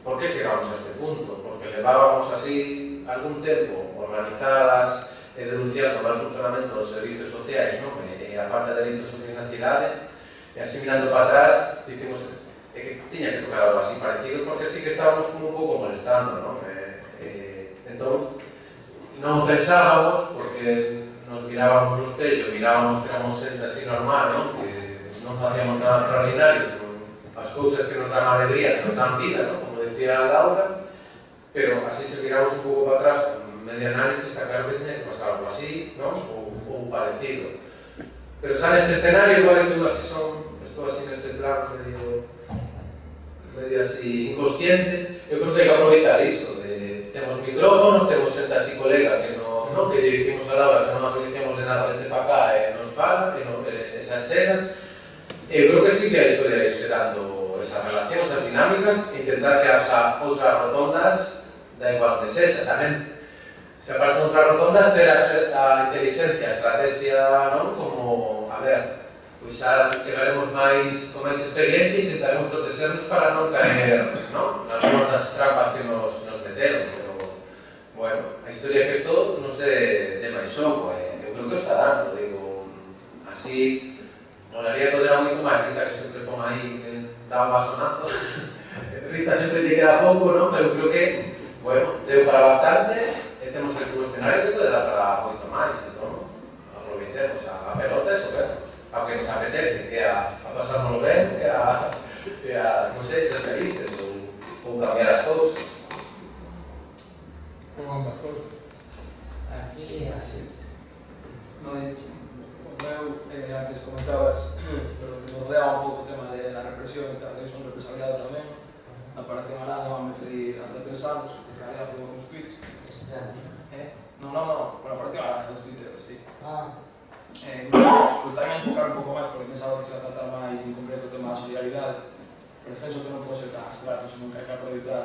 por que chegamos a este punto, porque levábamos así algún tempo organizadas e denunciando o mal funcionamento dos servicios sociais, non? E a falta de delitos sociais na cidade, e así mirando para atrás, dicimos que tiña que tocar algo así parecido, porque sí que estábamos como un pouco molestando, non? Entón, non pensábamos, porque nos mirábamos no espello, mirábamos que éramos xente así normal, non? Que non facíamos nada extraordinario, sino as cousas que nos dan alegría, que nos dan vida, non? Como decía Laura, pero así se miramos un pouco para atrás, medio análisis, está claro que tiña que pasar algo así, ¿no? O parecido. Pero xa neste escenario, igual que estou así neste plan medio así inconsciente, eu creo que hai que aproveitar iso, temos micrófonos, temos xente así colega que que lle dicimos a Laura que non a coñecemos de nada, vente para cá e nos fala, e xa enxegan. Eu creo que sí que a historia é xerando esas relacións, esas dinámicas, e intentar que haxa outras rotondas, da igual que sexa, tamén se aparecen outras rotondas, ter a inteligencia, a estrategia, non? Como, a ver, pois xa chegaremos máis con máis experiencia e intentaremos protegernos para non caer, non? Nas rondas trampas que nos meteron, pero, bueno, a historia que isto nos dé máis xogo, eu creo que o está dando, digo, así, molaría poder a moito máis, Rita que sempre pon aí, dá un basonazo, Rita sempre te queda pouco, non? Pero creo que, bueno, deu para bastante, temos un escenario que pode dar para moito máis, entón, aproveitemos a pelota e sobemos, ao que nos apetece, que é a pasármoslo ben, que é a, non sei, ser felices ou cambiar as cousas. Como ambas cousas. Así é, así. O meu, antes comentabas, pero que rodeaba un pouco o tema da represión e tal, eu son represaliado tamén, aparece en Aranda, van me pedir ante 3 anos, que calidad por uns tweets. No, por apareció Aranda, dos tuiteros, ¿viste? Pues tamén enfocar un pouco máis, porque pensaba que se va a tratar máis en concreto o tema da solidaridade, pero penso que non pode ser tan abstracto, senón que hai que aproveitar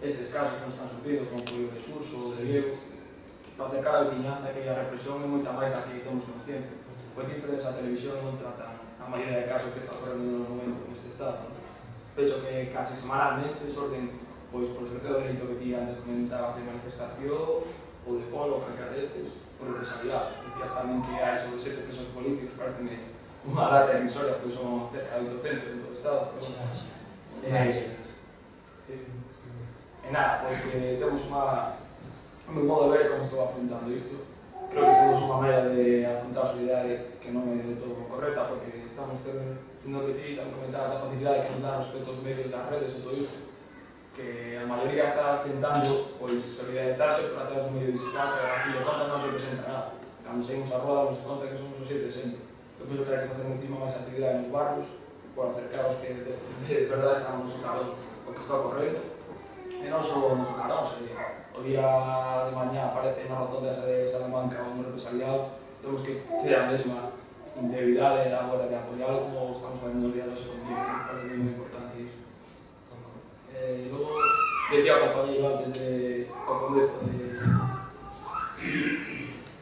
estes casos que nos están sufrindo, como foi o de Surso ou o de Diego, para acercar a veciñanza que a represión é moita máis da que temos consciencia. Porque ti perdes a televisión non tratan a maioría de casos que está correndo no momento neste estado. Penso que casi semanalmente sorten, pois, por exercer o dereito que ti antes comentabas de manifestación ou de foro, ou calquera destes, por represaliado. Dicías tamén que hai sobre 7 presos políticos, parece unha data irrisoria, pois son cerca de 800 en todo o estado. E nada, porque temos o meu modo de ver como estou afrontando isto. Creo que temos unha maneira de afrontar a solidariedade que non é de todo correcta, porque estamos tendo que ti tamén comentar a facilidade que nos dá respecto aos medios das redes e todo isto, que a maioría está tentando solidarizarse por atrás do medio digital, que a fin de contas non representa nada. Cando seguimos a roda, nos conta que somos os 760. Eu penso que hai que facer muitísima máis actividade nos barrios por acercar aos que de verdade estamos no carón o que está ocorrendo. E non só nos carón, o día de mañá aparece na rotonda esa de Salamanca un represaliado, temos que ter a mesma integridade a hora de apoiarlo como estamos facendo o día de hoxe contigo, me parece moi importante iso. Logo, decía o compañeiro antes o condezo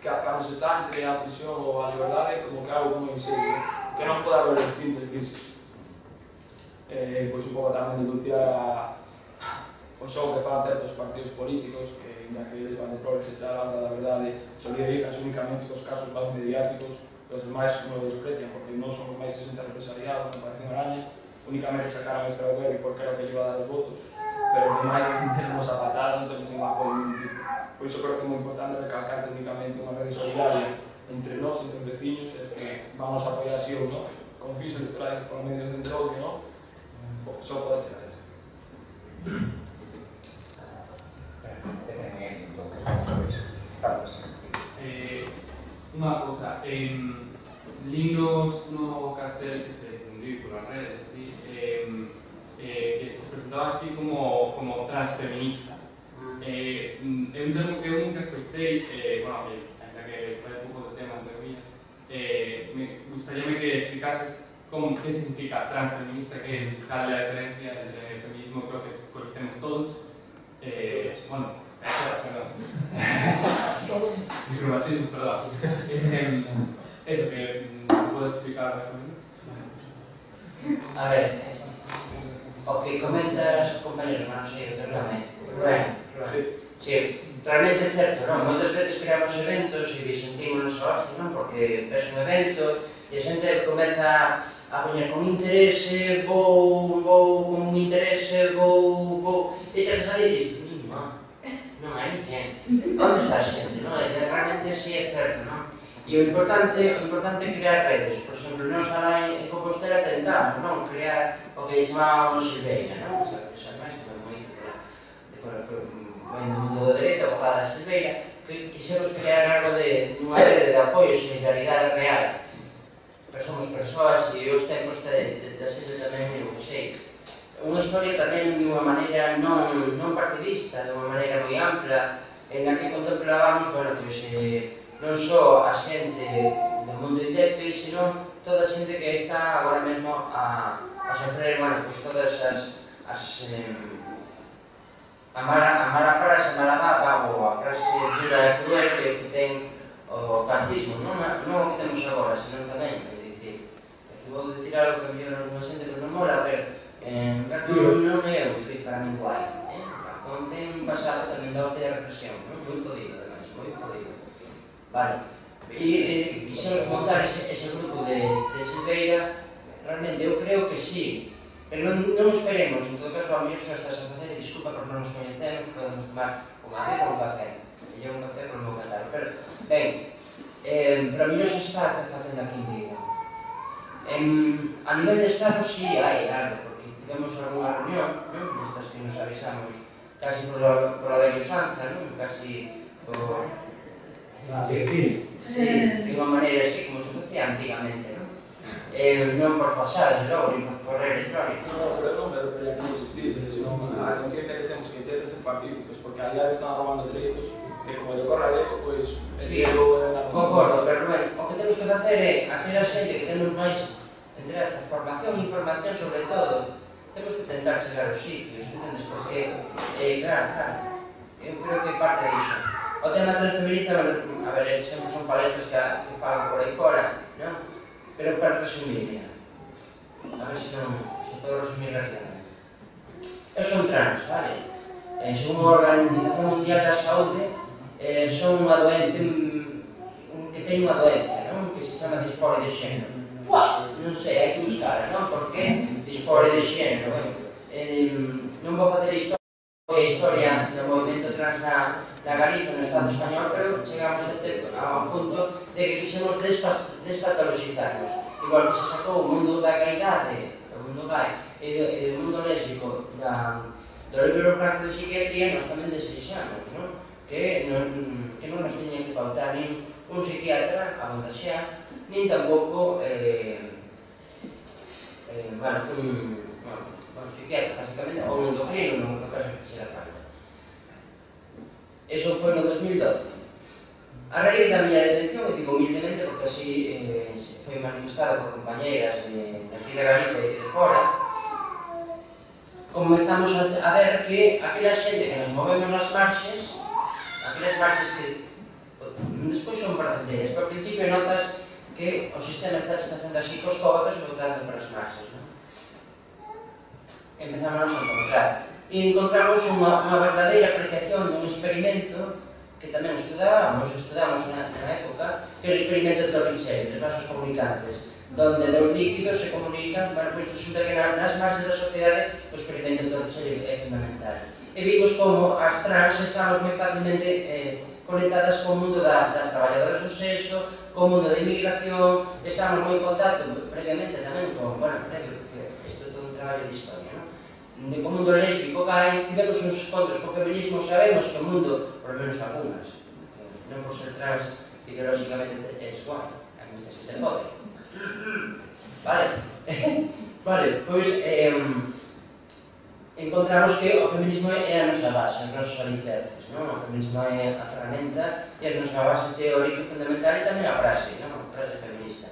que cando se está entre a prisión ou a liberdade como que algo moi serio, que non pode haber distintos crisis. Pois un pouco tamén denunciar o xogo que fan certos partidos políticos que, ainda que eles van de progres e tal, a hora da verdade, solidarizanse únicamente cos casos máis mediáticos, os demais non o desprecian, porque non somos máis 60 represaliados, non parece unha araña, únicamente sacaron este Albergue porque era o que lle iba a dar os votos, pero os demais non tenemos a patada, non tenemos ningún apoio de ningún tipo. Por iso creo que é moi importante recalcar que únicamente unha rede solidaria entre nós, entre os veciños, é que vamos a apoiar así ou non, con fins electorales por medio de entre outro, non? Só pode chegar eso. Unha cousa, linos no cartel que se difundiu polas redes, así, que se presentaba aquí como transfeminista. É un termo que eu nunca escoitei, bueno, ainda que fai un pouco de tema entre mí, me gustaríame que explicases que significa transfeminista, que cal é a diferencia entre el feminismo, creo que conocemos todos. Bueno, perdón. Micromatismo, perdón. Eso, que se pode explicar máis ou menos. A ver, o que comentas, compañero, non sei o que realmente. Sí, realmente é certo, non? Moitas veces creamos eventos e sentímonos a hostia, non? Porque ves un evento e a xente comeza a poñer con interese, vou con interese, vou... E xa que sabe e dices, non hai ninguén. Onde está a xente, non? E realmente sí é certo, non? E o importante é crear redes. Por exemplo, nós alá en Compostela tentamos, non? Crear o que chamábamos Silveira, non? Xa máis que moito no mundo do dereito, abogada Silveira, que quixemos crear algo de unha rede de apoio e solidaridade real. Pero somos persoas e os tempos da xente tamén é o que sei. Unha historia tamén de unha maneira non partidista, de unha maneira moi ampla, en la que contemplábamos, bueno, pois, non só a xente do mundo indepe, senón toda a xente que está agora mesmo a sofrer, bueno, pois todas as a mala frase, a mala baba, ou a frase dura e cruel que ten o fascismo, non o que temos agora, senón tamén, vou dicir algo que mellor alguna xente que non mola, pero Garzón non é un suiz para min guai. Garzón ten un pasado tamén da hostia de represión, moi fodido, ademais, moi fodido. Vale, e quixemos montar ese grupo de Silveira, realmente eu creo que sí, pero non esperemos, en todo caso, a mellor só estás a facer, e disculpa por non nos coñecemos, podemos tomar un café por un café, se lleva un café por un café, pero, ben, pero a mellor se está facendo aquí en Vigo. A nivel de Estado sí hai algo, porque tivemos algunha reunión, nestas que nos avisamos casi por a velha usanza, casi por... Sí, de unha maneira así como se facía antigamente, non por pasar, logo, ni por correo electrónico. Non, pero non me refería a que non existís, senón a conciencia que temos que ter de ser partícipes, porque a diario están robando dereitos que como lle corre a lei, pois... Sí, concordo, pero ben, o que temos que facer é aquela xente que temos máis entre a formación e información sobre todo, temos que tentar chegar aos sitios, entendes? Porque, claro, eu creo que parte disso. O tema transfeminista, a ver, sempre son palestras que falan por aí fora, non? Pero para resumir, mira, a ver se non se pode resumir rápidamente. Eu son trans, vale? Son unha Organización Mundial da Saúde, son unha doente que ten unha doenza, non? Que se chama disforia de xénero. Non sei, hai que buscar, non? Por que disforia de xénero? Non vou facer historia do movimento trans na Galiza, no Estado español, pero chegamos a un punto de que quixemos despatologizarnos. Igual que se sacou o mundo da gaidade, o mundo gay, e o mundo lésbico do libro branco de psiquiatría, nós tamén desexamos, non? Que non nos teña que pautar nin un psiquiatra a montaxear, nin tampouco un psiquiatra, basicamente, ou un endocrino, non é cosa que quixera falta. Eso foi no 2012. A raíz da miña detención, e digo humildemente porque así foi manifestado por compañeras de aquí de Galicia e de fora, comezamos a ver que aquela xente que nos movemos nas marxes, aquelas marxes que despois son placenteiras, pero ao principio notas que o sistema está facendo así cos cóbatos e votando para as marxes, non? Empezamos a encontrar. E encontramos unha verdadeira apreciación dun experimento que tamén estudamos na época, que é o experimento de Torricelli, dos vasos comunicantes, donde dos líquidos se comunican, bueno, pois resulta que nas marxes da sociedade o experimento de Torricelli é fundamental. E vimos como as trans estamos moi facilmente conectadas co mundo das traballadoras do sexo, co mundo da inmigración, estamos moi en contacto previamente tamén con, previo, porque isto é todo un traballo de historia, de co mundo lésbico gay, tivemos uns encontros co feminismo, sabemos que o mundo, por lo menos algunhas, non por ser trans ideolóxicamente é igual, hai moitas que te pode. Vale, pois encontramos que o feminismo é a nosa base, os nosos alicerces, non? O feminismo é a ferramenta e a nosa base teórica fundamental e tamén a frase, non? A frase feminista.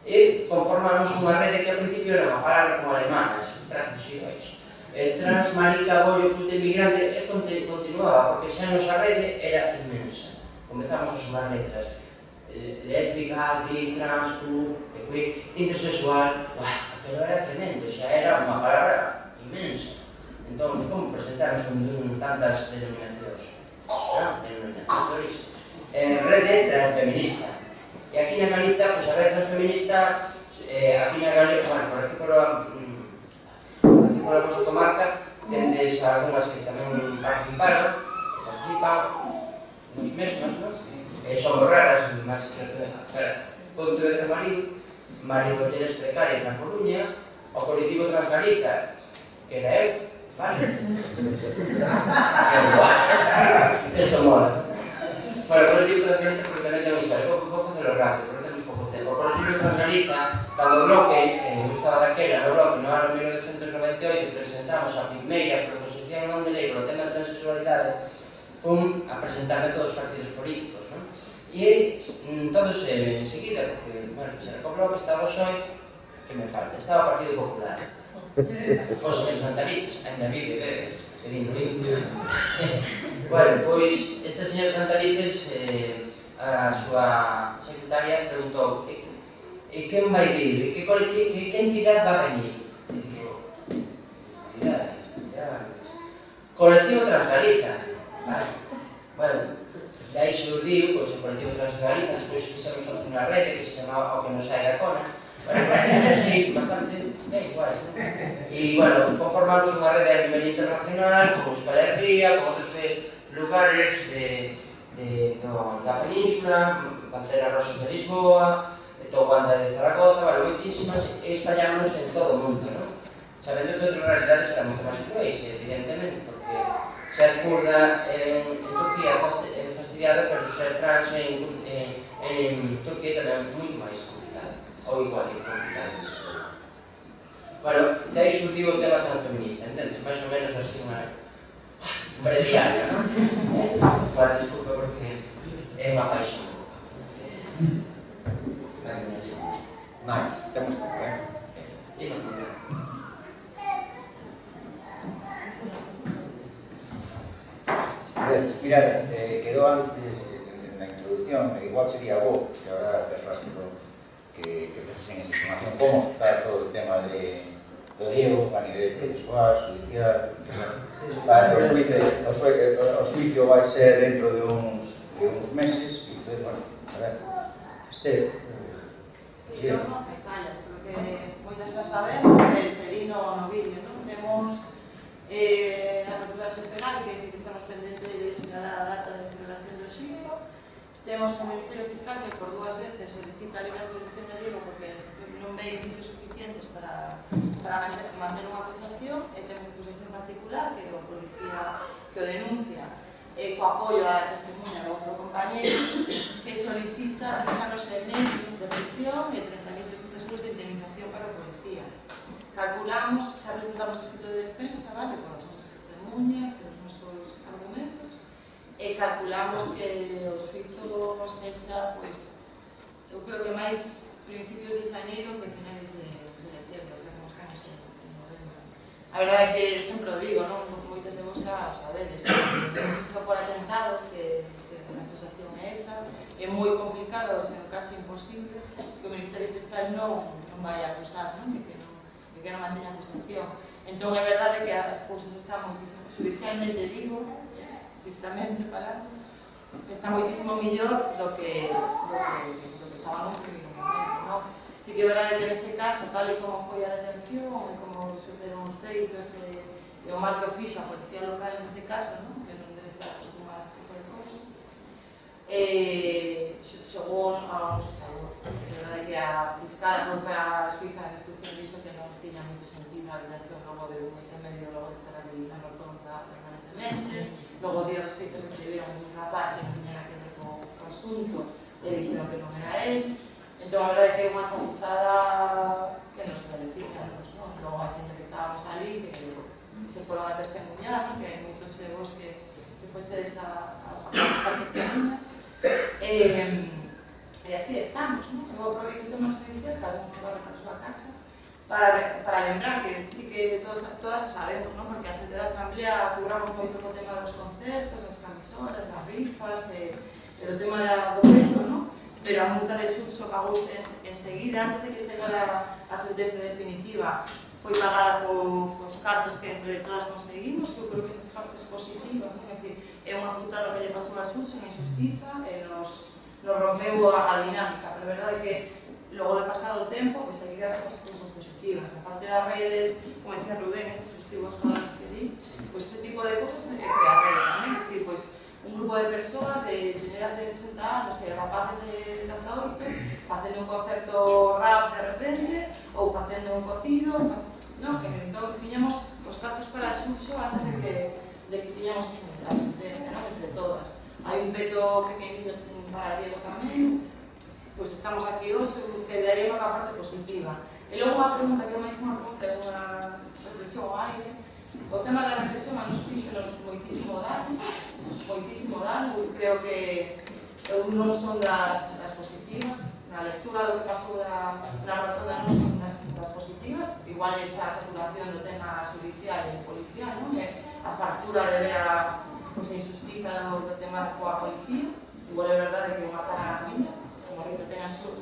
E conformamos unha rede que ao principio era unha palabra como alemana, traducido a iso. Trans, marica, bollo, puta, inmigrante, e continuaba, porque xa a nosa rede era inmensa. Comezamos a sumar letras. Lésbica, gay, trans, queer, intersexual, aquilo era tremendo, xa era unha palabra inmensa. Entón, como presentarnos con tantas denominacións? Denominacións rede transfeminista. E aquí na Galiza, pois a rede transfeminista, aquí na Galiza, por aquí por a nosa comarca, tendes algunhas que tamén participan nos mesmas, non? Somos raras, máis que Pontevedra Marín, Maricolleras Precarias na Coruña, o colectivo Transgaliza, que era eu, vale? Eso mola. Bueno, o colectivo Transgaliza, porque tamén ten unha historia, vou facelo rápido, porque temos pouco tempo. O colectivo Transgaliza, cando o bloque, eu estaba daquela no bloque, no ano 1998, presentamos a primeira proposición non de lei polo tema da transexualidade, fun a presentarme a todos os partidos políticos, non? E todos enseguida, porque, bueno, se recobrou que estaba o PSOE, que me falta, estaba o Partido Popular. Os señores Santalices, ainda vive, bebes, que dindo isto. Bueno, pois, estes señores Santalices, a súa secretaria preguntou e quen vai vir, que entidade vai venir? E digo, colectivo Transgaliza, vale? Bueno, de aí xurdiu, pois, o colectivo Transgaliza, despois fixemos unha rede que se chamaba O que nos sai da cona, bueno, así, bastante ben, igual, e, bueno, conformamos unha rede a nivel internacional, como Euskal Herria, con outros lugares da península, Pantera Rosas de Lisboa, Tobanda de Zaragoza, vale, moitísimas, e espallámonos en todo o mundo, non? Sabendo que outras realidades eran moito máis cruéis, evidentemente, porque ser kurda en Turquía é fastidiada, pero ser trans en Turquía tamén é moito máis complicado, ou igual de complicado. Bueno, de aí xurdiu o tema transfeminista, entendes? Mais ou menos así unha breviaria, non? Bueno, desculpa porque é unha paixón. Mais, temos tempo, Mirad, quedó antes en la introducción, igual sería vos, que ahora personas que precisen esa información, cómo está todo el tema de Diego a nivel sexual, judicial. Vale, o suicio vai ser dentro de uns meses, e entonces, bueno, a ver, Eu non me calla, porque moitas xa sabemos, se vi no vídeo, non? Temos a apertura excepcional, que dice que estamos pendentes de señalar a data de celebración do xuízo. Temos o Ministerio Fiscal que por 2 veces solicita a libre solución de Diego porque non ve indicios suficientes para manter unha acusación, e temos a acusación particular que o policía que o denuncia co apoio á testemunha do outro compañeiro, que solicita 3 anos e medio de prisión e 30.300 euros de indemnización para o policía. Calculamos, xa presentamos escrito de defensa, vale, con as nosas testemunhas e os nosos argumentos, e calculamos que o suizo sexa, pois, eu creo que máis principios de xaneiro que finales de decembro, xa como estamos en novembro. A verdade é que sempre o digo, non? Moitas de vos xa o sabedes, que por atentado, que a acusación é esa, é moi complicado, sendo casi imposible, que o Ministerio Fiscal non vai a acusar, non? E que non manteña acusación. Entón, é verdade que as cousas están moitísimo, judicialmente digo, estrictamente falando, está moitísimo millor do que estábamos no primeiro momento, non? Si que é verdade que neste caso, tal e como foi a detención, e como sucederon os feitos, e o mal que fixo a policía local neste caso, non? Que non debe estar acostumada a este tipo de cousas, según a un favor. É verdade que a fiscal, a propia suiza de instrucción dixo que non tiña moito sentido a detención logo de un mes e medio, logo de estar ali na rotonda permanentemente. Logo, o día dos feitos, escribiron un rapaz que non tiña que ver co asunto, e dixeron que non era él. Entón, a verdade é que é unha chapuzada que non se beneficia, non? Logo, a xente que estábamos ali, que foron a testemunhar, que hai moitos de vos que fochedes a testemunha. E así estamos, non? Eu aproveito o tema judicial, cada un corre para a súa casa, para lembrar que sí que todas sabemos, non? Porque a xente da Asamblea curamos moito co tema dos concertos, das camisolas, das rifas, e do tema do veto, non? Pero a multa de xurxo pagouse enseguida, antes de que chegara a sentencia definitiva, foi pagada cos cartos que entre todas conseguimos, que eu creo que esas cartas positivas, non? É dicir, é unha putada que lle pasou a xurxo en injustiza, e nos rompeu a dinámica, pero a verdade é que logo de pasado o tempo, pois hai que dar as cousas positivas. A parte das redes, como decía Rubén, suscribo as palabras que di, pois ese tipo de cousas é crear rede tamén, é dicir, pois un grupo de persoas, de señoras de 60 anos e rapaces de 18, facendo un concerto rap de repente, ou facendo un cocido, non? Entón, tiñamos os cartos para xurxo antes de que tiñamos a sentencia, non? Entre todas. Hai un peto pequenino para Diego tamén, pois estamos aquí hoxe, que daría unha parte positiva. E logo unha pregunta, que é máis unha pregunta, é unha reflexión ao aire. O tema da represión a nos fixenos moitísimo dano, eu creo que eu non son das positivas, na lectura do que pasou na rotonda non son das positivas, igual esa saturación do tema judicial e policial, non? A fartura de ver a injustiza do tema coa policía, igual é verdade que unha cara a miña, como Rita ten a súa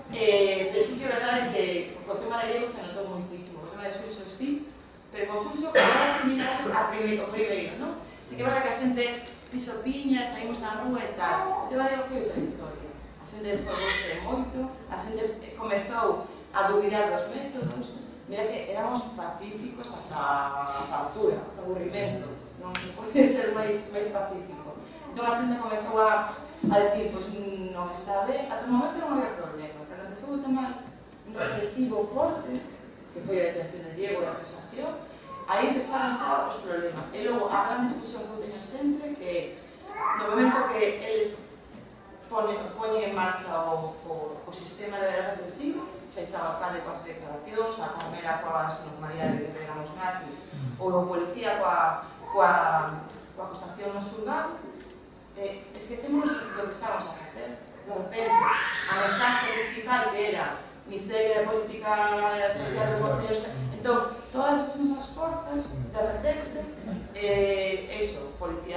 pero sí que é verdade que o tema de Diego se notou moitísimo, o tema de xurxo sí, pero con xurxo que vai mirar o primeiro, non? Sí que é verdade que a xente fixo piñas, saímos á rúa e tal. O tema de Diego foi outra historia. A xente descolgouse moito, a xente comezou a dubidar dos métodos. Mira que éramos pacíficos ata a factura, ata aburrimento. Non pode ser máis pacífico. Entón a xente comezou a decir, pois non está ben, ata o momento non había problema. Cando empezou o tema represivo forte, que foi a detención de Diego e a acusación, aí empezaron xa os problemas. E logo, a gran discusión que eu teño sempre, que no momento que eles poñen en marcha o sistema de represivo, xa o alcalde coas declaracións, a Carmela coas normalidades que eran os nazis, ou o policía coa acusación no xulgado, esquecemos do que estábamos a facer. De repente, a mensaxe principal que era miseria de política social de concellos, entón, todas as nosas forzas, de repente, eso, policía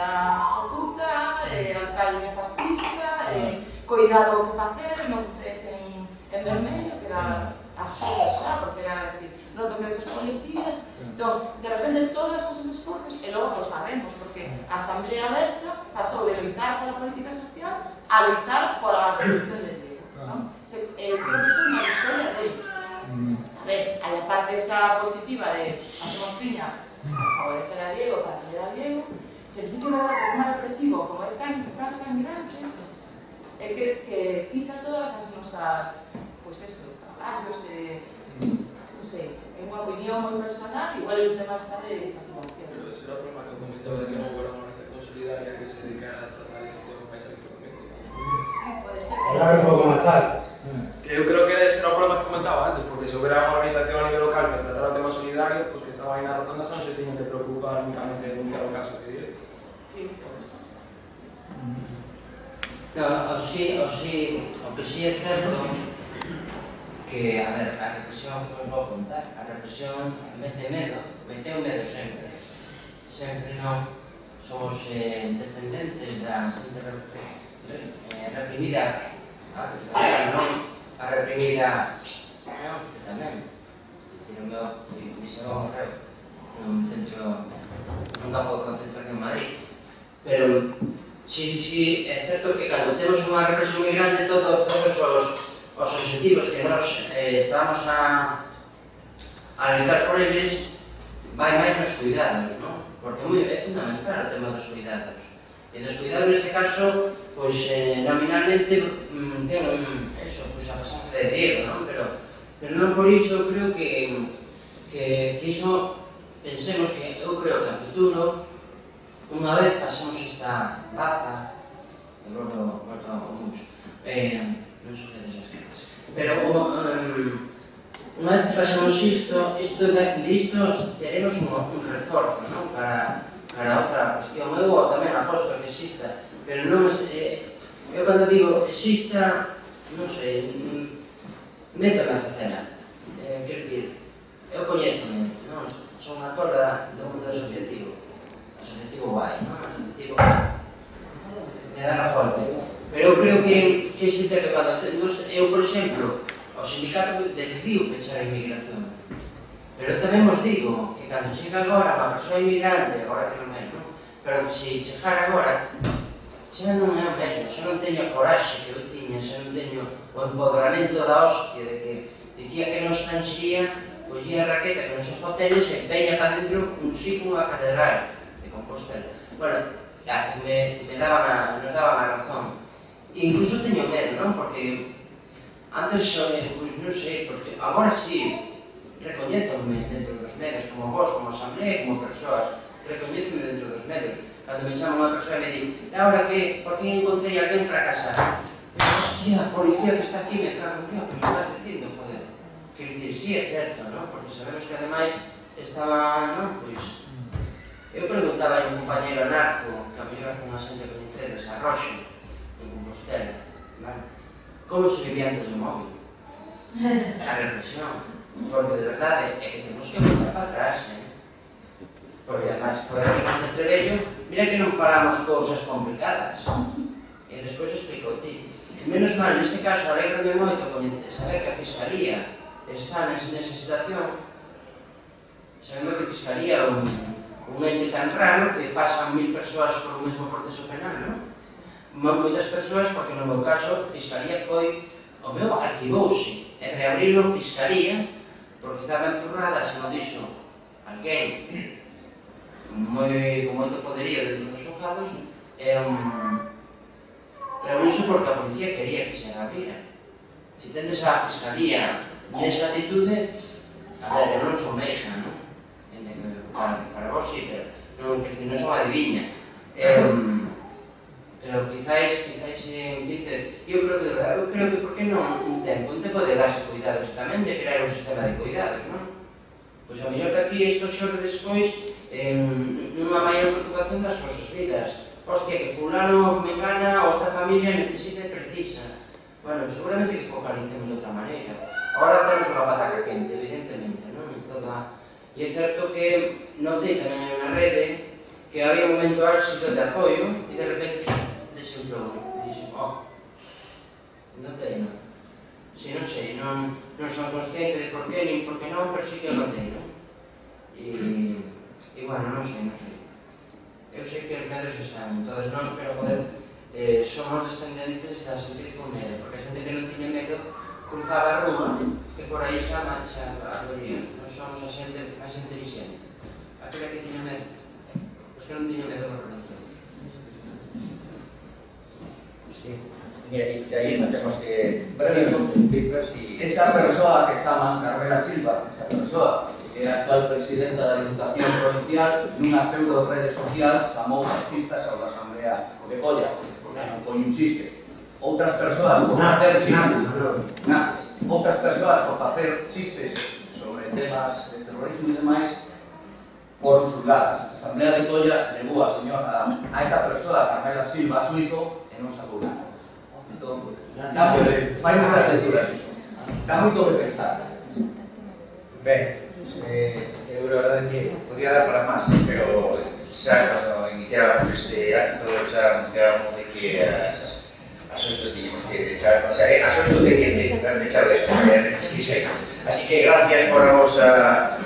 cuidado o que facer, non cruces en vermello, que era absurdo xa, porque era decir, non toques os policías. Entón, de repente, todas as cosas esforzos, e logo lo sabemos, porque a Asamblea Aberta pasou de loitar pola política social a loitar pola solución del Diego. Creo que é unha victoria deles. A ver, hai a parte esa positiva de hacemos piña a favorecer a Diego, para apoyar a Diego, pero sí que é verdade que o máis represivo, como é tan sangrante, é que quisa todas as nosas, pois eso, traballos, non sei, é unha opinión moi personal, igual é un tema xa de desactivación. Pero ese era o problema que comentaba de que non hubo unha organización solidaria que se dedicara a tratar este tema máis habitualmente. Sí, pode ser. Hablar un pouco máis tarde. Que eu creo que ese era o problema que comentaba antes, porque se houbera unha organización a nivel local que tratara o tema solidario, pues que estaba aí na rotonda non se tiñen que preocupar únicamente de denunciar o caso que dire. Sí, pode ser. No, o que sí é certo que, a ver, a represión que vos vou contar, a represión meteu medo sempre. Sempre non somos descendentes da xente reprimida, non a reprimida tamén. O meu bisavó morreu nun campo de concentración en Madrid. Pero sí, é certo que cando temos unha represión moi grande, todos os objetivos que nos estamos a loitar por eles vai máis nos cuidados, non? Porque é fundamental o tema dos cuidados. E dos cuidados, neste caso, pois nominalmente ten a pasanza de Diego, non? Pero non por iso creo que iso pensemos que eu creo que a futuro, unha vez pasemos esta baza, e logo volto ao mundo, non sucede esas cosas. Pero unha vez que pasemos disto teremos un reforzo, non? Para outra cuestión. Eu tamén aposto que exista, pero non eu cando digo exista, non sei, métome a facela. Quero dicir, eu coñézome, non? Son unha torda do mundo asociativo. Asociativo guai, non? Asociativo de dar a golpe. Pero eu creo que existe que cando eu, por exemplo, o sindicato decidiu pechar a inmigración. Pero tamén vos digo que cando chega agora unha persoa inmigrante, agora que non é, non? Pero que se chegar agora, xa non é o mesmo, xa non teño a coraxe que eu tiña, xa non teño o empoderamento da hostia de que dicía que non estranxería, collía a raqueta que nos os hoteles e veña para dentro un sitio unha catedral de Compostela. Bueno, nos daban a razón. Incluso teño medo, non? Porque antes, pois non sei, porque agora sí, recoñézome dentro dos medios, como vos, como asamblea, como persoas, recoñézome dentro dos medios. Cando me chama unha persoa e me di, Laura, que por fin encontrei alguén para casar. Hostia, a policía que está aquí me cago en Dios, que me estás dicindo, joder. Quero dicir, sí, é certo, non? Porque sabemos que ademais estaba, non? Pois, eu preguntaba a un compañero anarco, que a mellor con a xente coñecedes, a Roxo, en Compostela, vale? Como se vivía antes do móvil? A represión. Porque de verdade é que temos que voltar para atrás, porque además, por exemplo, de Trebello, mira que non falamos cousas complicadas. E despois explico ti. Menos mal, neste caso, alegrame moito saber que a Fiscalía está nesa situación, sabendo que a Fiscalía é un ente tan raro que pasan 1000 persoas por o mesmo proceso penal, non? Moitas persoas, porque no meu caso, a Fiscalía foi, o meu arquivouse, e reabriron Fiscalía, porque estaba empurrada, se non dixo alguén con moito poderío dentro dos xulgados, reabriuse porque a policía quería que se abrira. Se tendes a Fiscalía nesa atitude, a ver, eu non son meixa, non? Para vos sí, pero non son adiviña. Pero quizáis invite, eu creo que por que non un tempo de darse cuidados tamén, de crear un sistema de cuidados, non? Pois a mellor que aquí isto xorde despois nunha maior preocupación das vosas vidas. Hostia, que fulano me gana ou esta familia necesita e precisa. Bueno, seguramente que focalicemos de outra maneira. Agora temos unha pataca quente, evidentemente, non? E é certo que notei tamén unha rede que había un momento álxido de apoio e de repente desinflou. Dixen, no pleno. Si non sei, non son consciente de por qué nin por qué non, pero sí que o notei, non? E bueno, non sei. Eu sei que os medos están, entón nós, pero joder, somos descendentes da xente con medo, porque a xente que non tiña medo cruzaba a rúa, que por aí xa acollía. Non somos a xente máis inteligente. Aquela que tiña medo, pois que non tiña medo por religión. Sí. Mira, y ahí tenemos que... Esa persoa que chaman Carmela Silva, esa persoa que era actual presidenta da Diputación Provincial, nunha pseudo rede social chamou fascistas ao da Asamblea de Colla, porque non foi un chiste. Outras persoas por facer chistes, outras persoas por facer chistes sobre temas de terrorismo e demais, foron xulgadas. A Asamblea de Colla levou a esa persoa, Carmela Silva, a Suizo, e non sacou nada. Cambio de... Fai moitas lecturas iso. Dá moito de pensar. Ben, eu a verdade que podía dar para máis, pero xa cando iniciábamos este acto xa anunciábamos de que as 8 teníamos que echar, o sea, as 8 de que echar despois, así que gracias por a vosa